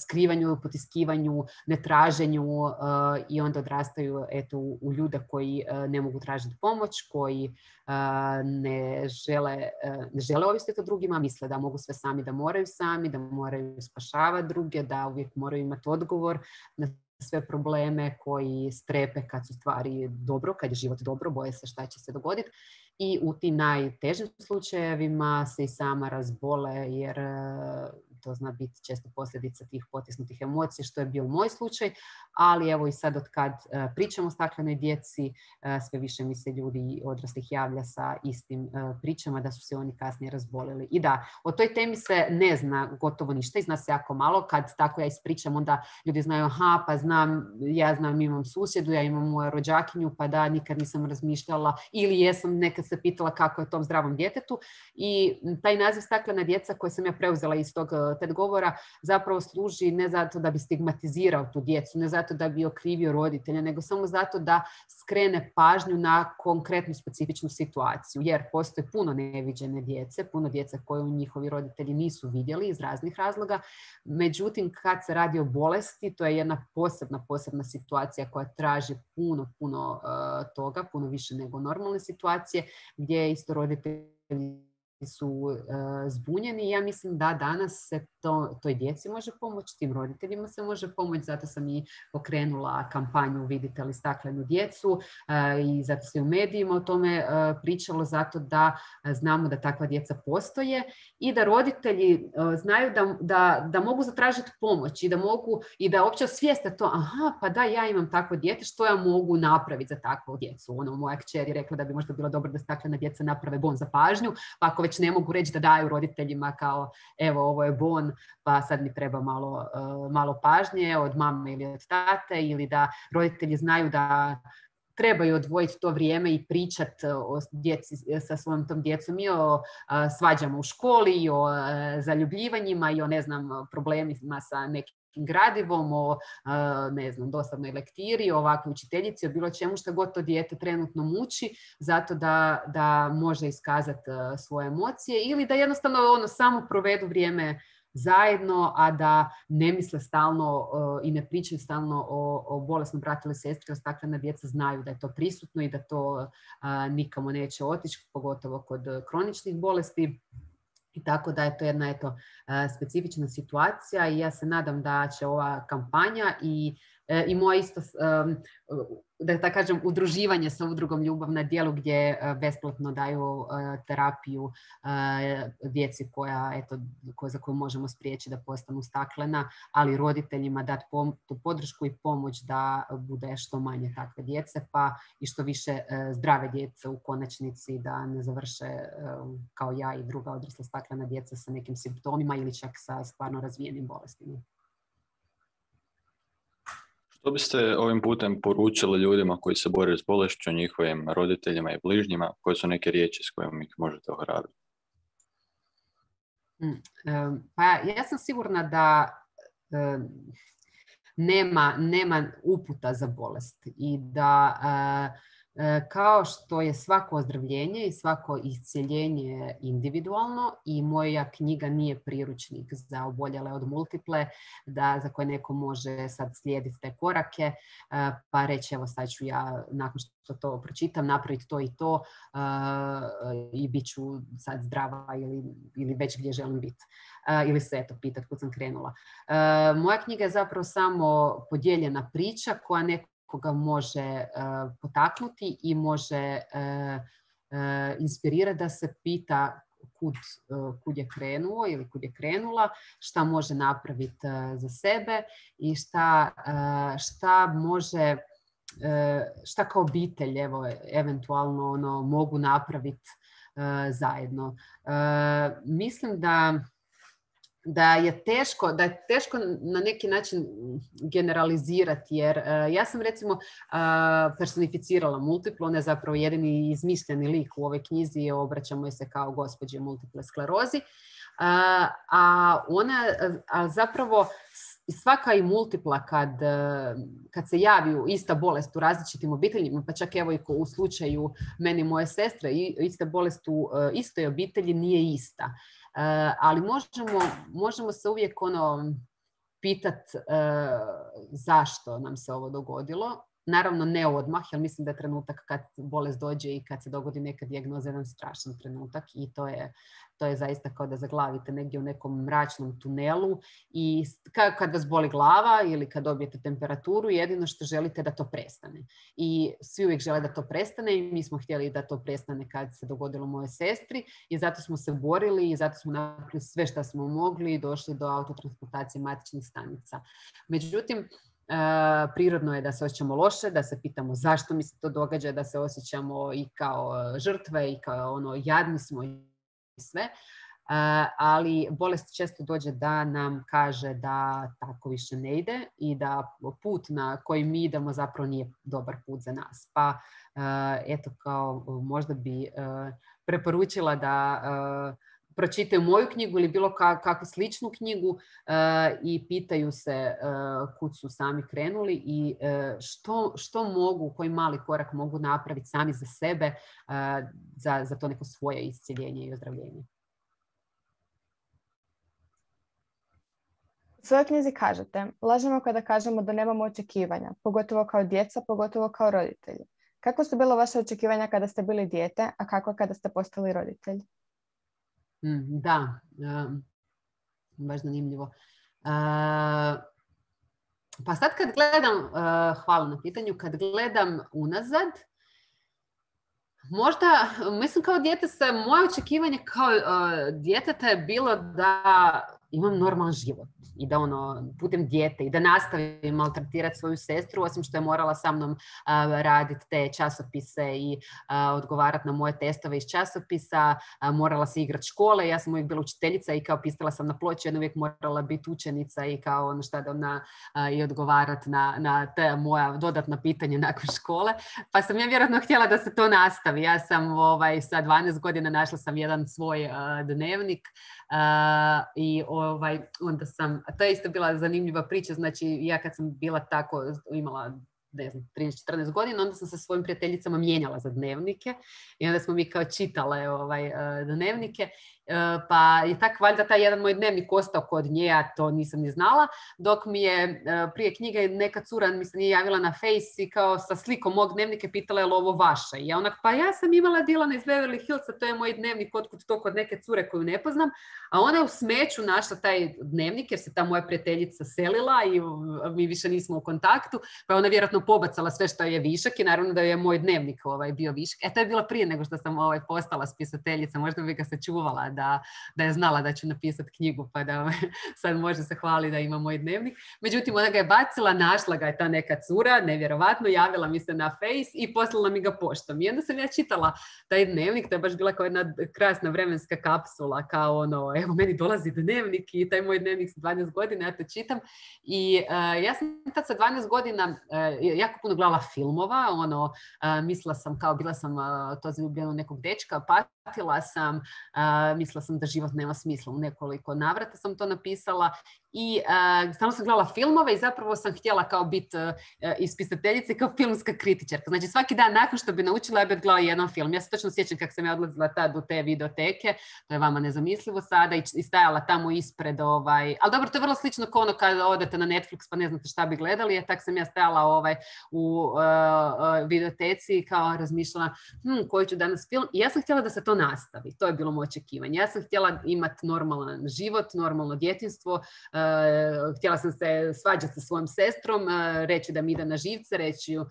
skrivanju, potiskivanju, netraženju i onda odrastaju eto, u ljude koji ne mogu tražiti pomoć, koji ne žele, ne žele ovisiti o drugima, misle da mogu sve sami, da moraju sami, da moraju spašavati druge, da uvijek moraju imati odgovor na sve probleme, koji strepe kad su stvari dobro, kad je život dobro, boje se šta će se dogoditi. I u tim najtežim slučajevima se i sama razbole jer to zna biti često posljedica tih potisnutih emocija, što je bio moj slučaj, ali evo i sad od kad pričamo o staklenoj djeci, sve više mi se ljudi odraslih javlja sa istim pričama da su se oni kasnije razbolili. I da, o toj temi se ne zna gotovo ništa i zna se jako malo. Kad tako ja ispričam, onda ljudi znaju, aha, pa znam, ja znam, imam susjedu, ja imam moju rođakinju, pa da, nikad nisam razmišljala ili jesam nekad se pitala kako je tom zdravom djetetu. I taj naziv staklena djeca koji sam ja preuzela iz tog TED govora zapravo služi ne zato da bi stigmatizirao tu djecu, ne zato da bi okrivio roditelja, nego samo zato da skrene pažnju na konkretnu specifičnu situaciju. Jer postoje puno neviđene djece, puno djece koje njihovi roditelji nisu vidjeli iz raznih razloga. Međutim, kad se radi o bolesti, to je jedna posebna, posebna situacija koja traži puno, puno uh, toga, puno više nego normalne situacije, gdje isto roditelji su uh, zbunjeni. Ja mislim da danas se to, toj djeci može pomoći, tim roditeljima se može pomoći, zato sam i pokrenula kampanju Vidite li staklenu djecu uh, i zato se u medijima o tome uh, pričalo, zato da uh, znamo da takva djeca postoje i da roditelji uh, znaju da, da, da mogu zatražiti pomoć i da mogu i da uopće osvijeste to, aha, pa da, ja imam takvo dijete, što ja mogu napraviti za takvu djecu. Ono, moja kćer je rekla da bi možda bilo dobro da staklena djeca naprave bon za pažnju, pa ako već ne mogu reći da daju roditeljima kao evo ovo je bon, pa sad mi treba malo, uh, malo pažnje od mame ili od tate, ili da roditelji znaju da trebaju odvojiti to vrijeme i pričati o djeci sa svojom tom djecom i o uh, svađama u školi, i o uh, zaljubljivanjima, i o ne znam problemima sa nekim gradivom, o ne znam, dosadnoj lektiri, o ovakvoj učiteljici, o bilo čemu što god to dijete trenutno muči, zato da, da može iskazati svoje emocije ili da jednostavno ono, samo provedu vrijeme zajedno, a da ne misle stalno uh, i ne pričaju stalno o, o bolesnom bratu ili sestri, jer staklena djeca znaju da je to prisutno i da to uh, nikamo neće otići, pogotovo kod kroničnih bolesti. I tako da je to jedna eto, specifična situacija i ja se nadam da će ova kampanja i, i moje isto, da tako kažem, udruživanje sa udrugom Ljubav na djelu gdje besplatno daju terapiju djeci koja, eto, za koju možemo spriječiti da postanu staklena, ali roditeljima dati tu podršku i pomoć da bude što manje takve djece, pa i što više zdrave djece u konačnici, da ne završe kao ja i druga odrasla staklena djeca sa nekim simptomima ili čak sa stvarno razvijenim bolestima. Što biste ovim putem poručili ljudima koji se bore s bolešću, njihovim roditeljima i bližnjima? Koje su neke riječi s kojima ih možete ohrabriti? Pa ja sam sigurna da nema, nema uputa za bolest i da kao što je svako ozdravljenje i svako iscjeljenje individualno i moja knjiga nije priručnik za oboljele od multiple, da, za koje neko može sad slijediti te korake pa reći evo sad ću ja nakon što to pročitam napraviti to i to uh, i bit ću sad zdrava ili, ili već gdje želim biti. Uh, ili se eto pitat kud sam krenula. Uh, moja knjiga je zapravo samo podijeljena priča koja neko koga može uh, potaknuti i može uh, uh, inspirirati da se pita kud, uh, kud je krenuo ili kud je krenula, šta može napraviti uh, za sebe i šta, uh, šta može, uh, šta kao obitelj evo, eventualno ono, mogu napraviti uh, zajedno. Uh, mislim da da je teško, da je teško na neki način generalizirati, jer uh, ja sam recimo uh, personificirala multiplu, ona je zapravo jedini izmišljeni lik u ovoj knjizi, obraćamo se kao gospođe multiple sklerozi, uh, a ona a zapravo svaka i multipla kad, kad se javi ista bolest u različitim obiteljima, pa čak evo i u slučaju meni i moje sestre, ista bolest u istoj obitelji nije ista. Ali možemo, možemo se uvijek ono pitati zašto nam se ovo dogodilo. Naravno ne odmah, jer mislim da je trenutak kad bolest dođe i kad se dogodi neka dijagnoza jedan strašan trenutak i to je, to je zaista kao da zaglavite negdje u nekom mračnom tunelu i kad vas boli glava ili kad dobijete temperaturu, jedino što želite da to prestane. I svi uvijek žele da to prestane i mi smo htjeli da to prestane kad se dogodilo moje sestri i zato smo se borili i zato smo napravili sve što smo mogli i došli do autotransplantacije matičnih stanica. Međutim, Uh, prirodno je da se osjećamo loše, da se pitamo zašto mi se to događa, da se osjećamo i kao žrtve i kao ono jadni smo i sve, uh, ali bolest često dođe da nam kaže da tako više ne ide i da put na koji mi idemo zapravo nije dobar put za nas. Pa uh, eto kao možda bi uh, preporučila da uh, pročitaju moju knjigu ili bilo kakvu sličnu knjigu uh, i pitaju se uh, kud su sami krenuli i uh, što, što mogu, koji mali korak mogu napraviti sami za sebe uh, za, za to neko svoje iscjeljenje i ozdravljenje. U svojoj knjizi kažete, lažemo kada kažemo da nemamo očekivanja, pogotovo kao djeca, pogotovo kao roditelji. Kako su bilo vaše očekivanja kada ste bili dijete, a kako kada ste postali roditelj? Da, baš zanimljivo. Pa sad kad gledam, hvala na pitanju, kad gledam unazad, možda, mislim kao dijete se, moje očekivanje kao djeteta je bilo da imam normalan život i da ono, putem dijete i da nastavim maltretirati svoju sestru, osim što je morala sa mnom uh, raditi te časopise i uh, odgovarati na moje testove iz časopisa, uh, morala se igrati škole, ja sam uvijek bila učiteljica i kao pisala sam na ploči, jedna uvijek morala biti učenica i kao ono šta da ona uh, i odgovarati na, na te moja dodatna pitanja nakon škole, pa sam ja vjerojatno htjela da se to nastavi. Ja sam ovaj, sa dvanaest godina našla sam jedan svoj uh, dnevnik uh, i ovaj, onda sam, a to je isto bila zanimljiva priča, znači ja kad sam bila tako, imala ne znam, trinaest četrnaest godina, onda sam sa svojim prijateljicama mijenjala za dnevnike i onda smo mi kao čitale ovaj, dnevnike, pa je tako valjda taj jedan moj dnevnik ostao kod nje, ja to nisam ni znala, dok mi je prije knjige neka cura mi se nije javila na Face i kao sa slikom mog dnevnika pitala je li ovo vaše. I ja onak, pa ja sam imala Dilana iz Beverly Hillsa, to je moj dnevnik, otkud to kod neke cure koju ne poznam, a ona je u smeću našla taj dnevnik jer se ta moja prijateljica selila i mi više nismo u kontaktu, pa ona vjerojatno pobacala sve što je višak i naravno da je moj dnevnik ovaj, bio višak. E, to je bilo prije nego što sam ovaj, postala spisateljica, možda bi ga sačuvala da, da je znala da ću napisati knjigu, pa da sad može se hvali da ima moj dnevnik. Međutim, ona ga je bacila, našla ga je ta neka cura, nevjerovatno, javila mi se na Face i poslala mi ga poštom. I onda sam ja čitala taj dnevnik, to je baš bila kao jedna krasna vremenska kapsula, kao ono, evo meni dolazi dnevnik i taj moj dnevnik sa dvanaest godina, ja to čitam. I uh, ja sam tad sa dvanaest godina uh, jako puno gledala filmova, ono, uh, mislila sam kao, bila sam uh, to zaljubljena u nekog dečka, patila sam, uh, mislila sam da život nema smisla, u nekoliko navrata sam to napisala i uh, stalno sam gledala filmove i zapravo sam htjela kao biti uh, ispisateljica i kao filmska kritičarka. Znači svaki dan nakon što bi naučila ja bi odgledala jedan film. Ja se točno sjećam kako sam ja odlazila tad u te videoteke, to je vama nezamislivo sada, i, i stajala tamo ispred, ovaj, ali dobro, to je vrlo slično kao ono kada odete na Netflix pa ne znate šta bi gledali, ja tak sam ja stajala ovaj, u uh, uh, videoteci i kao razmišljala hm, koji ću danas film i ja sam htjela da se to nastavi, to je bilo moje očekivanje. Ja sam htjela imati normalan život, normalno djetinjstvo, uh, htjela sam se svađati sa svojom sestrom, uh, reći da mi ide na živce, reći uh,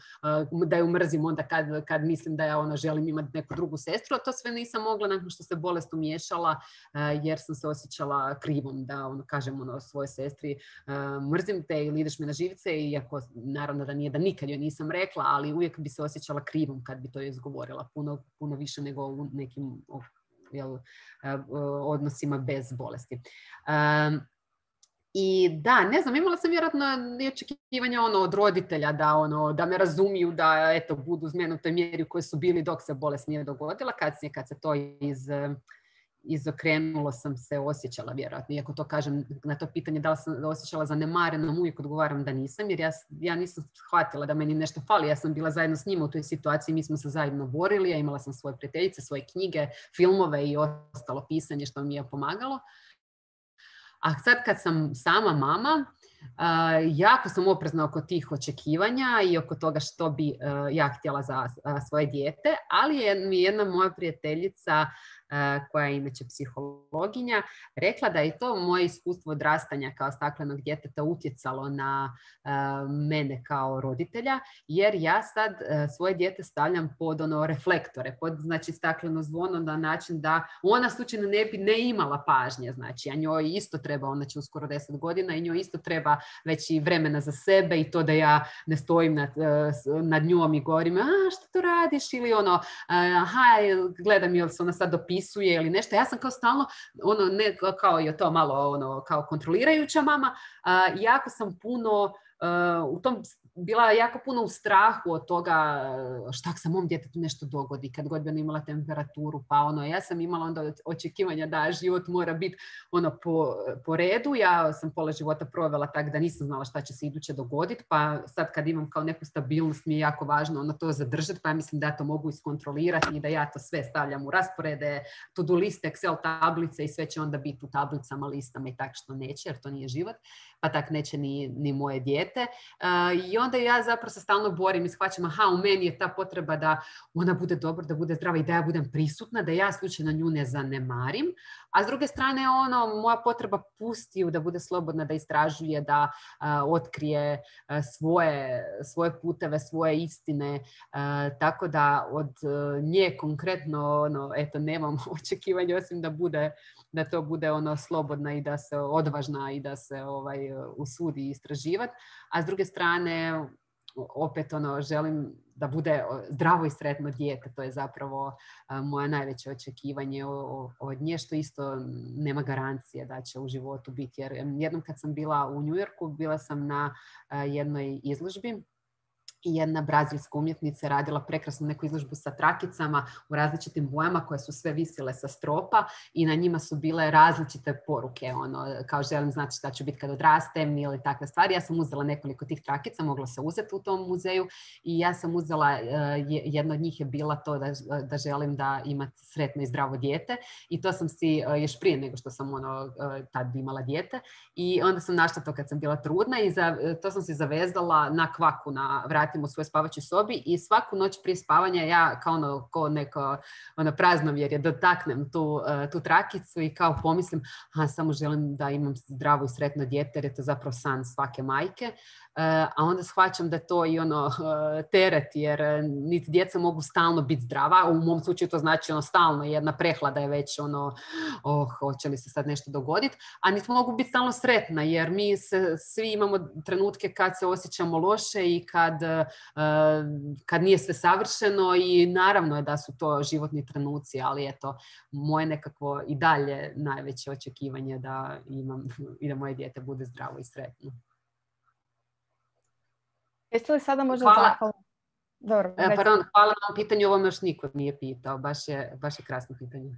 da ju mrzim onda kad, kad mislim da ja ono želim imati neku drugu sestru, a to sve nisam mogla nakon što se bolest umiješala uh, jer sam se osjećala krivom da ono, kažem ono, svojoj sestri uh, mrzim te ili ideš mi na živce, iako naravno da nije da nikad joj nisam rekla, ali uvijek bi se osjećala krivom kad bi to izgovorila, puno, puno više nego u nekim jel, odnosima bez bolesti. Um, I da, ne znam, imala sam vjerojatno i očekivanja ono, od roditelja da, ono, da me razumiju, da eto, budu uz mene u toj mjeri u kojoj su bili dok se bolest nije dogodila, kasnije kad se to iz, izokrenulo sam se osjećala vjerojatno. Iako to kažem na to pitanje da li sam osjećala zanemarenom, uvijek odgovaram da nisam, jer ja, ja nisam shvatila da meni nešto fali. Ja sam bila zajedno s njima u toj situaciji, mi smo se zajedno borili, ja imala sam svoje prijateljice, svoje knjige, filmove i ostalo pisanje što mi je pomagalo. A sad kad sam sama mama, Uh, jako sam oprezna oko tih očekivanja i oko toga što bi uh, ja htjela za uh, svoje dijete, ali je mi jedna moja prijateljica uh, koja je inače psihologinja rekla da je to moje iskustvo odrastanja kao staklenog djeteta utjecalo na uh, mene kao roditelja, jer ja sad uh, svoje dijete stavljam pod ono reflektore, pod znači stakleno zvono na način da ona slučajno ne bi ne imala pažnje, znači a njoj isto treba, ona će uskoro deset godina i njoj isto treba već i vremena za sebe i to da ja ne stojim nad, nad njom i govorim a što to radiš ili ono aha gledam jel se ona sad dopisuje ili nešto. Ja sam kao stalno ono ne kao je to malo ono kao kontrolirajuća mama, a, jako sam puno Uh, u tom bila jako puno u strahu od toga šta se mom djetetu nešto dogodi kad god bi ona imala temperaturu, pa ono ja sam imala onda očekivanja da život mora biti ono po, po redu. Ja sam pola života provela tako da nisam znala šta će se iduće dogoditi, pa sad kad imam kao neku stabilnost mi je jako važno ono to zadržati, pa ja mislim da ja to mogu iskontrolirati i da ja to sve stavljam u rasporede, to-do liste, Excel tablice i sve će onda biti u tablicama, listama i tako što neće, jer to nije život, pa tak neće ni, ni moje dijete. Uh, I onda ja zapravo se stalno borim i shvaćam, aha, u meni je ta potreba da ona bude dobra, da bude zdrava i da ja budem prisutna, da ja slučajno nju ne zanemarim. A s druge strane, ono, moja potreba pusti ju da bude slobodna, da istražuje, da uh, otkrije uh, svoje, svoje puteve, svoje istine. Uh, tako da od uh, nje konkretno, ono, eto, nemam očekivanja osim da bude, da to bude ono slobodna i da se odvažna i da se ovaj, usudi istraživati. A s druge strane, opet ono, želim da bude zdravo i sretno dijete. To je zapravo a, moje najveće očekivanje od nje, što isto nema garancije da će u životu biti. Jer jednom kad sam bila u New Yorku, bila sam na a, jednoj izložbi i jedna brazilska umjetnica radila prekrasnu neku izložbu sa trakicama u različitim bojama koje su sve visile sa stropa i na njima su bile različite poruke, ono, kao želim znati šta ću biti kad odrastem ili takve stvari. Ja sam uzela nekoliko tih trakica, mogla se uzeti u tom muzeju i ja sam uzela, jedna od njih je bila to da, da želim da imati sretno i zdravo dijete i to sam si još prije nego što sam ono, tad imala dijete i onda sam našla to kad sam bila trudna i za, to sam si zavezala na kvaku na vrati u svojoj spavačoj sobi i svaku noć prije spavanja ja kao ono, ko neko ono, praznovjerje dotaknem tu, tu trakicu i kao pomislim a samo želim da imam zdravo i sretno dijete jer je to zapravo san svake majke. A onda shvaćam da to i ono teret jer niti djeca mogu stalno biti zdrava, u mom slučaju to znači ono stalno jedna prehlada je već ono oh, hoće li se sad nešto dogoditi, a niti mogu biti stalno sretna jer mi se, svi imamo trenutke kad se osjećamo loše i kad, kad nije sve savršeno i naravno je da su to životni trenuci, ali eto moje nekakvo i dalje najveće očekivanje da imam i da moje dijete bude zdravo i sretno. Jeste li sada možda hvala. zahvalni? Dobro, e, pardon, hvala na pitanju, ovo me još niko nije pitao, baš je, baš je krasno pitanje.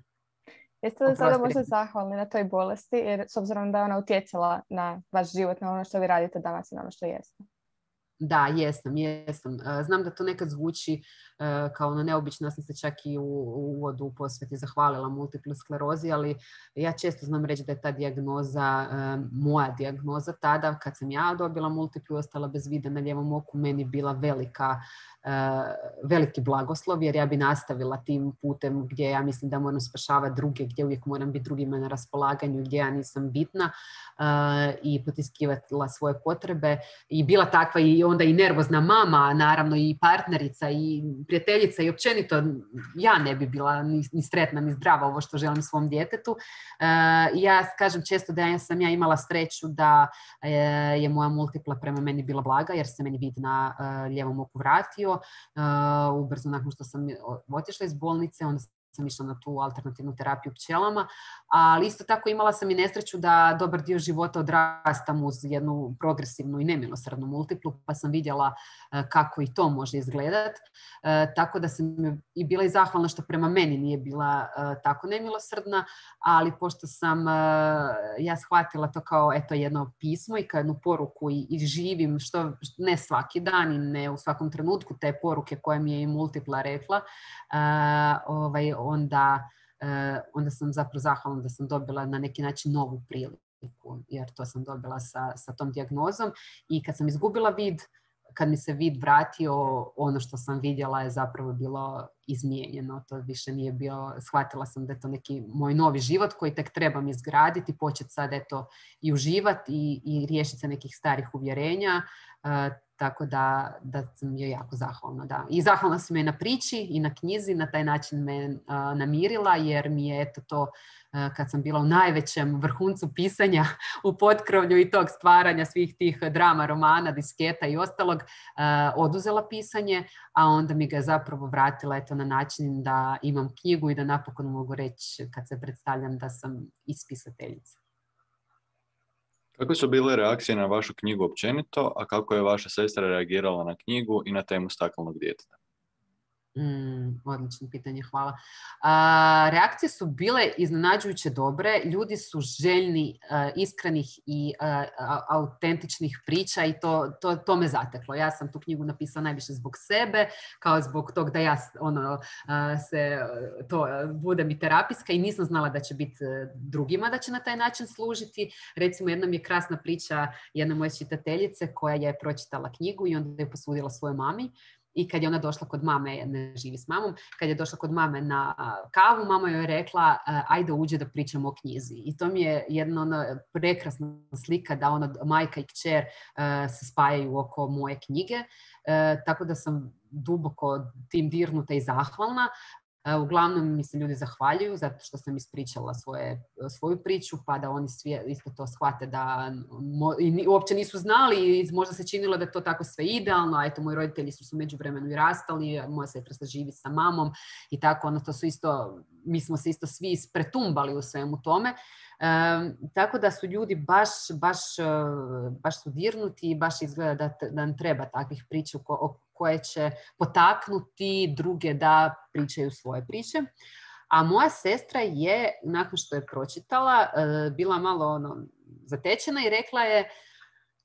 Jeste li sada možda zahvalni na toj bolesti, jer s obzirom da je ona utjecala na vaš život, na ono što vi radite danas i na ono što jeste? Da, jesam, jesam. Znam da to nekad zvuči uh, kao ono neobično, ja sam se čak i u, u uvodu u posveti zahvalila multiple sklerozi, ali ja često znam reći da je ta dijagnoza, uh, moja dijagnoza tada, kad sam ja dobila multiplu i ostala bez vida na lijevom oku, meni bila velika, uh, veliki blagoslov, jer ja bi nastavila tim putem gdje ja mislim da moram spašavati druge, gdje uvijek moram biti drugima na raspolaganju, gdje ja nisam bitna uh, i potiskivala svoje potrebe i bila takva i onda i nervozna mama, naravno i partnerica i prijateljica i općenito ja ne bi bila ni, ni sretna ni zdrava ovo što želim svom djetetu. Uh, ja kažem često da ja sam ja imala sreću da uh, je moja multipla prema meni bila blaga jer se meni vid na uh, lijevom oku vratio. Uh, ubrzo nakon što sam otišla iz bolnice, onda sam išla na tu alternativnu terapiju pčelama, ali isto tako imala sam i nesreću da dobar dio života odrastam uz jednu progresivnu i nemilosrdnu multiplu, pa sam vidjela kako i to može izgledati. Tako da sam i bila i zahvalna što prema meni nije bila tako nemilosrdna, ali pošto sam ja shvatila to kao eto jedno pismo i kao jednu poruku i, i živim što ne svaki dan i ne u svakom trenutku te poruke koje mi je i multipla rekla, ovaj, onda, onda sam zapravo zahvalna da sam dobila na neki način novu priliku, jer to sam dobila sa, sa tom dijagnozom. I kad sam izgubila vid, kad mi se vid vratio, ono što sam vidjela je zapravo bilo izmijenjeno. To više nije bio, shvatila sam da je to neki moj novi život koji tek trebam izgraditi, početi sad eto i uživati i, i riješiti se nekih starih uvjerenja. Uh, tako da, da sam joj jako zahvalna. Da. I zahvalna sam joj na priči i na knjizi, na taj način me uh, namirila, jer mi je eto to uh, kad sam bila u najvećem vrhuncu pisanja u potkrovlju i tog stvaranja svih tih drama, romana, disketa i ostalog, uh, oduzela pisanje, a onda mi ga je zapravo vratila eto na način da imam knjigu i da napokon mogu reći kad se predstavljam da sam ispisateljica. Kako su bile reakcije na vašu knjigu općenito, a kako je vaša sestra reagirala na knjigu i na temu staklenog djeteta? Mm, odlično pitanje, hvala. A, reakcije su bile iznenađujuće dobre. Ljudi su željni uh, iskrenih i uh, autentičnih priča i to, to, to me zateklo. Ja sam tu knjigu napisala najviše zbog sebe, kao zbog tog da ja ono, uh, se, to uh, budem i terapijska i nisam znala da će biti uh, drugima da će na taj način služiti. Recimo, jedna mi je krasna priča jedne moje čitateljice koja je pročitala knjigu i onda je posudila svojoj mami. I kad je ona došla kod mame, ne živi s mamom, kad je došla kod mame na kavu, mama joj je rekla ajde uđe da pričamo o knjizi. I to mi je jedna ona prekrasna slika da ona majka i kćer uh, se spajaju oko moje knjige. Uh, tako da sam duboko tim dirnuta i zahvalna. Uh, uglavnom mi se ljudi zahvaljuju zato što sam ispričala svoje, svoju priču, pa da oni svi isto to shvate da mo, i uopće nisu znali i možda se činilo da je to tako sve idealno, a eto moji roditelji su se u međuvremenu i rastali, moja sestra se živi sa mamom i tako, ono to su isto, mi smo se isto svi ispretumbali u svemu tome. Um, tako da su ljudi baš, baš, baš su dirnuti i baš izgleda da, da nam treba takvih priča ko, koje će potaknuti druge da pričaju svoje priče. A moja sestra je, nakon što je pročitala, bila malo ono, zatečena i rekla je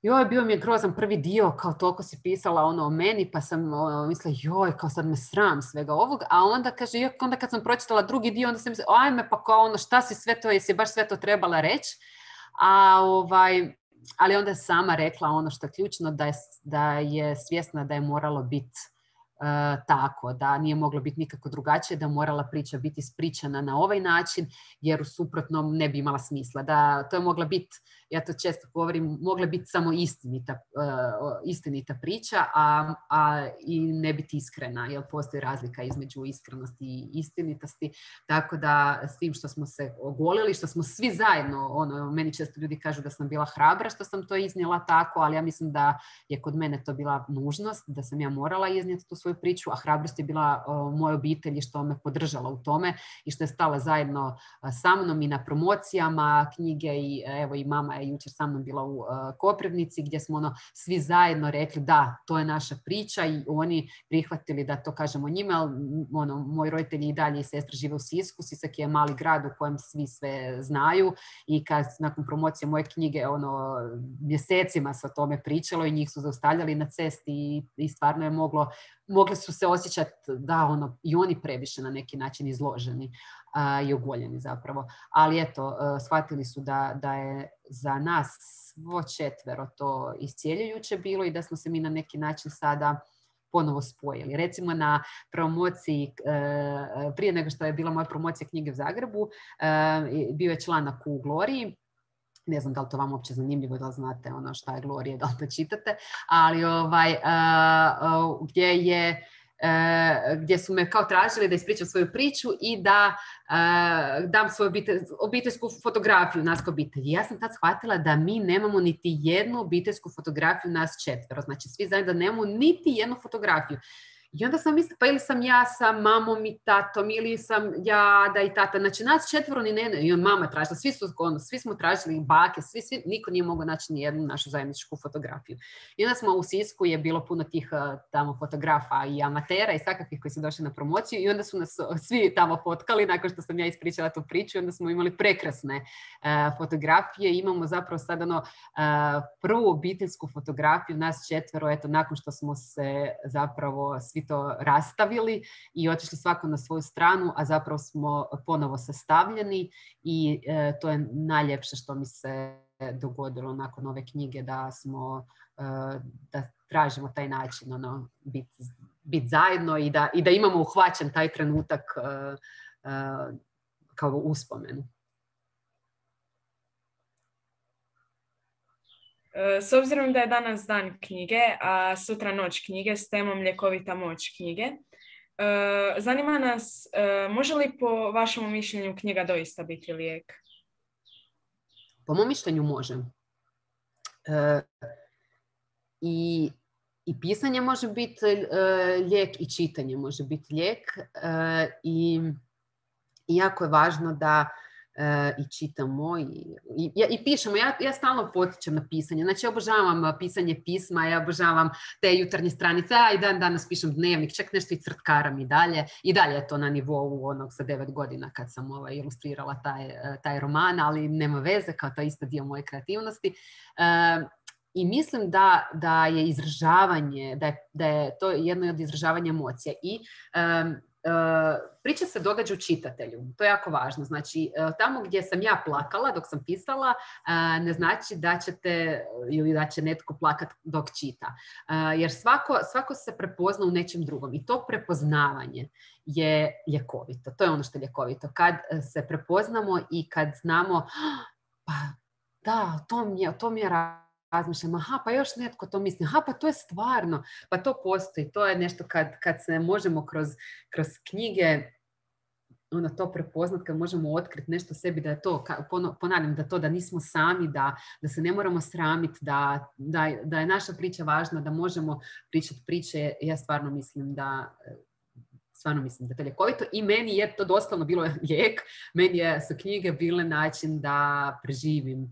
joj, bio mi je grozan prvi dio, kao toliko si pisala ono o meni, pa sam ono, mislila, joj, kao sad me sram svega ovog, a onda kaže, joj, onda kad sam pročitala drugi dio, onda sam mislila, ajme, pa kao ono, šta si sve to, jesi baš sve to trebala reći, a ovaj, ali onda je sama rekla ono što je ključno, da je, da je svjesna da je moralo biti uh, tako, da nije moglo biti nikako drugačije, da morala priča biti ispričana na ovaj način, jer u suprotnom ne bi imala smisla, da to je mogla biti, ja to često govorim, mogla biti samo istinita, uh, istinita priča, a, a i ne biti iskrena, jer postoji razlika između iskrenosti i istinitosti, tako da s tim što smo se ogolili, što smo svi zajedno, ono, meni često ljudi kažu da sam bila hrabra što sam to iznijela tako, ali ja mislim da je kod mene to bila nužnost, da sam ja morala iznijeti tu svoju priču, a hrabrost je bila uh, moje obitelji što me podržala u tome i što je stala zajedno uh, sa mnom i na promocijama knjige i evo i mama je jučer sa mnom bila u uh, Koprivnici gdje smo ono, svi zajedno rekli da, to je naša priča i oni prihvatili da to kažemo njima, ali ono, moji roditelji i dalje i sestra žive u Sisku, Sisak je mali grad u kojem svi sve znaju i kad nakon promocije moje knjige ono, mjesecima se o tome pričalo i njih su zaustavljali na cesti i, i stvarno je moglo, mogli su se osjećati da ono, i oni previše na neki način izloženi a, i ogoljeni zapravo. Ali eto, a, shvatili su da, da je za nas svo četvero to iscijeljujuće bilo i da smo se mi na neki način sada ponovo spojili. Recimo na promociji, prije nego što je bila moja promocija knjige u Zagrebu, bio je članak u Gloriji. Ne znam da li to vam uopće zanimljivo, da li znate ono šta je Glorija, da li to čitate, ali ovaj, gdje je gdje su me kao tražili da ispričam svoju priču i da uh, dam svoju obitelj, obiteljsku fotografiju nas kao obitelji. Ja sam tad shvatila da mi nemamo niti jednu obiteljsku fotografiju nas četvero. Znači svi zajedno da nemamo niti jednu fotografiju. I onda sam mislila, pa ili sam ja sa mamom i tatom, ili sam ja da i tata. Znači, nas četvoro ni ne, i on mama tražila, svi su, ono, svi smo tražili bake, svi, svi, niko nije mogao naći ni jednu našu zajedničku fotografiju. I onda smo u Sisku, je bilo puno tih tamo fotografa i amatera i svakakvih koji su došli na promociju i onda su nas svi tamo fotkali nakon što sam ja ispričala tu priču. Onda smo imali prekrasne uh, fotografije. Imamo zapravo sad ono uh, prvu obiteljsku fotografiju, nas četvero, eto, nakon što smo se zapravo svi to rastavili i otišli svako na svoju stranu, a zapravo smo ponovo sastavljeni i uh, to je najljepše što mi se dogodilo nakon ove knjige, da smo uh, da tražimo taj način ono, biti bit zajedno i da, i da imamo uhvaćen taj trenutak uh, uh, kao uspomenu. S obzirom da je danas dan knjige, a sutra noć knjige s temom Ljekovita moć knjige, zanima nas, može li po vašem mišljenju knjiga doista biti lijek? Po mom mišljenju može. E, i, I pisanje može biti e, lijek i čitanje može biti lijek. E, i, I jako je važno da e, i čitamo i, i, i pišemo. Ja, ja stalno potičem na pisanje. Znači, ja obožavam pisanje pisma, ja obožavam te jutarnje stranice. A i dan danas pišem dnevnik, čak nešto i crtkaram i dalje. I dalje je to na nivou onog sa devet godina kad sam ovaj, ilustrirala taj, taj roman, ali nema veze, kao to isto dio moje kreativnosti. E, I mislim da, da je izražavanje, da je, da je to jedno od izražavanja emocija. I um, uh, priča se događa u čitatelju. To je jako važno. Znači, uh, tamo gdje sam ja plakala dok sam pisala, uh, ne znači da ćete ili da će netko plakati dok čita. Uh, jer svako, svako se prepozna u nečem drugom. I to prepoznavanje je ljekovito. To je ono što je ljekovito. Kad se prepoznamo i kad znamo, pa da, to mi je, to mi je razmišljam, aha, pa još netko to misli, aha, pa to je stvarno, pa to postoji, to je nešto kad, kad se možemo kroz, kroz knjige ono, to prepoznat, kad možemo otkriti nešto sebi, da je to, ponavljam, da to, da nismo sami, da, da se ne moramo sramiti, da, da, da je naša priča važna, da možemo pričati priče, ja stvarno mislim da stvarno mislim da je to ljekovito i meni je to doslovno bilo lijek, meni je, su knjige bile način da preživim uh,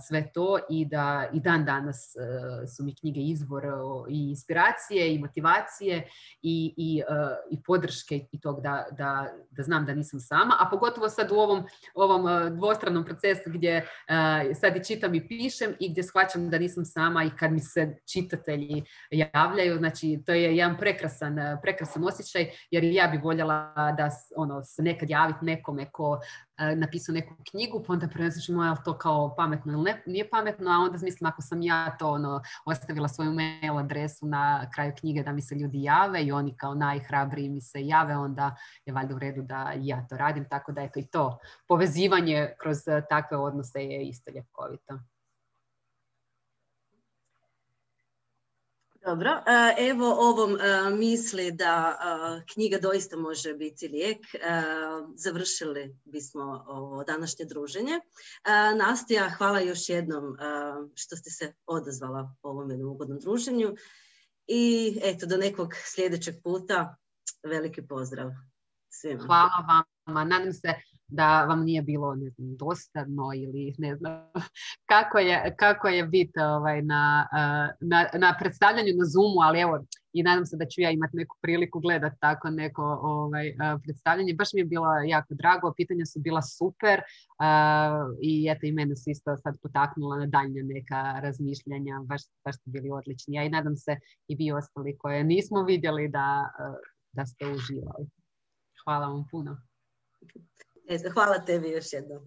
sve to i da i dan danas uh, su mi knjige izvor uh, i inspiracije i motivacije i, i, uh, i podrške i tog da, da, da znam da nisam sama, a pogotovo sad u ovom, ovom uh, dvostranom procesu gdje uh, sad i čitam i pišem i gdje shvaćam da nisam sama i kad mi se čitatelji javljaju, znači to je jedan prekrasan, prekrasan osjećaj, jer ja bi voljela da ono, se nekad javiti nekome ko uh, napisao neku knjigu, pa onda prenosliš moja to kao pametno ili ne, nije pametno, a onda mislim ako sam ja to ono, ostavila svoju mail adresu na kraju knjige da mi se ljudi jave i oni kao najhrabriji mi se jave, onda je valjda u redu da ja to radim, tako da eto i to povezivanje kroz takve odnose je isto ljekovito. Dobro, evo ovom misli da knjiga doista može biti lijek. Završili bismo ovo današnje druženje. Nastja, hvala još jednom što ste se odazvala ovom jednom ugodnom druženju i eto do nekog sljedećeg puta veliki pozdrav svima. Hvala vama, nadam se da vam nije bilo ne znam, dosadno ili ne znam kako je, kako je biti ovaj, na, na, na predstavljanju na Zoomu, ali evo i nadam se da ću ja imati neku priliku gledati tako neko ovaj, predstavljanje. Baš mi je bilo jako drago, pitanja su bila super uh, i eto i mene su isto sad potaknula na daljnja neka razmišljanja, baš, baš ste bili odlični. Ja i nadam se i vi ostali koje nismo vidjeli da, da ste uživali. Hvala vam puno. Hvala tebi još jednom.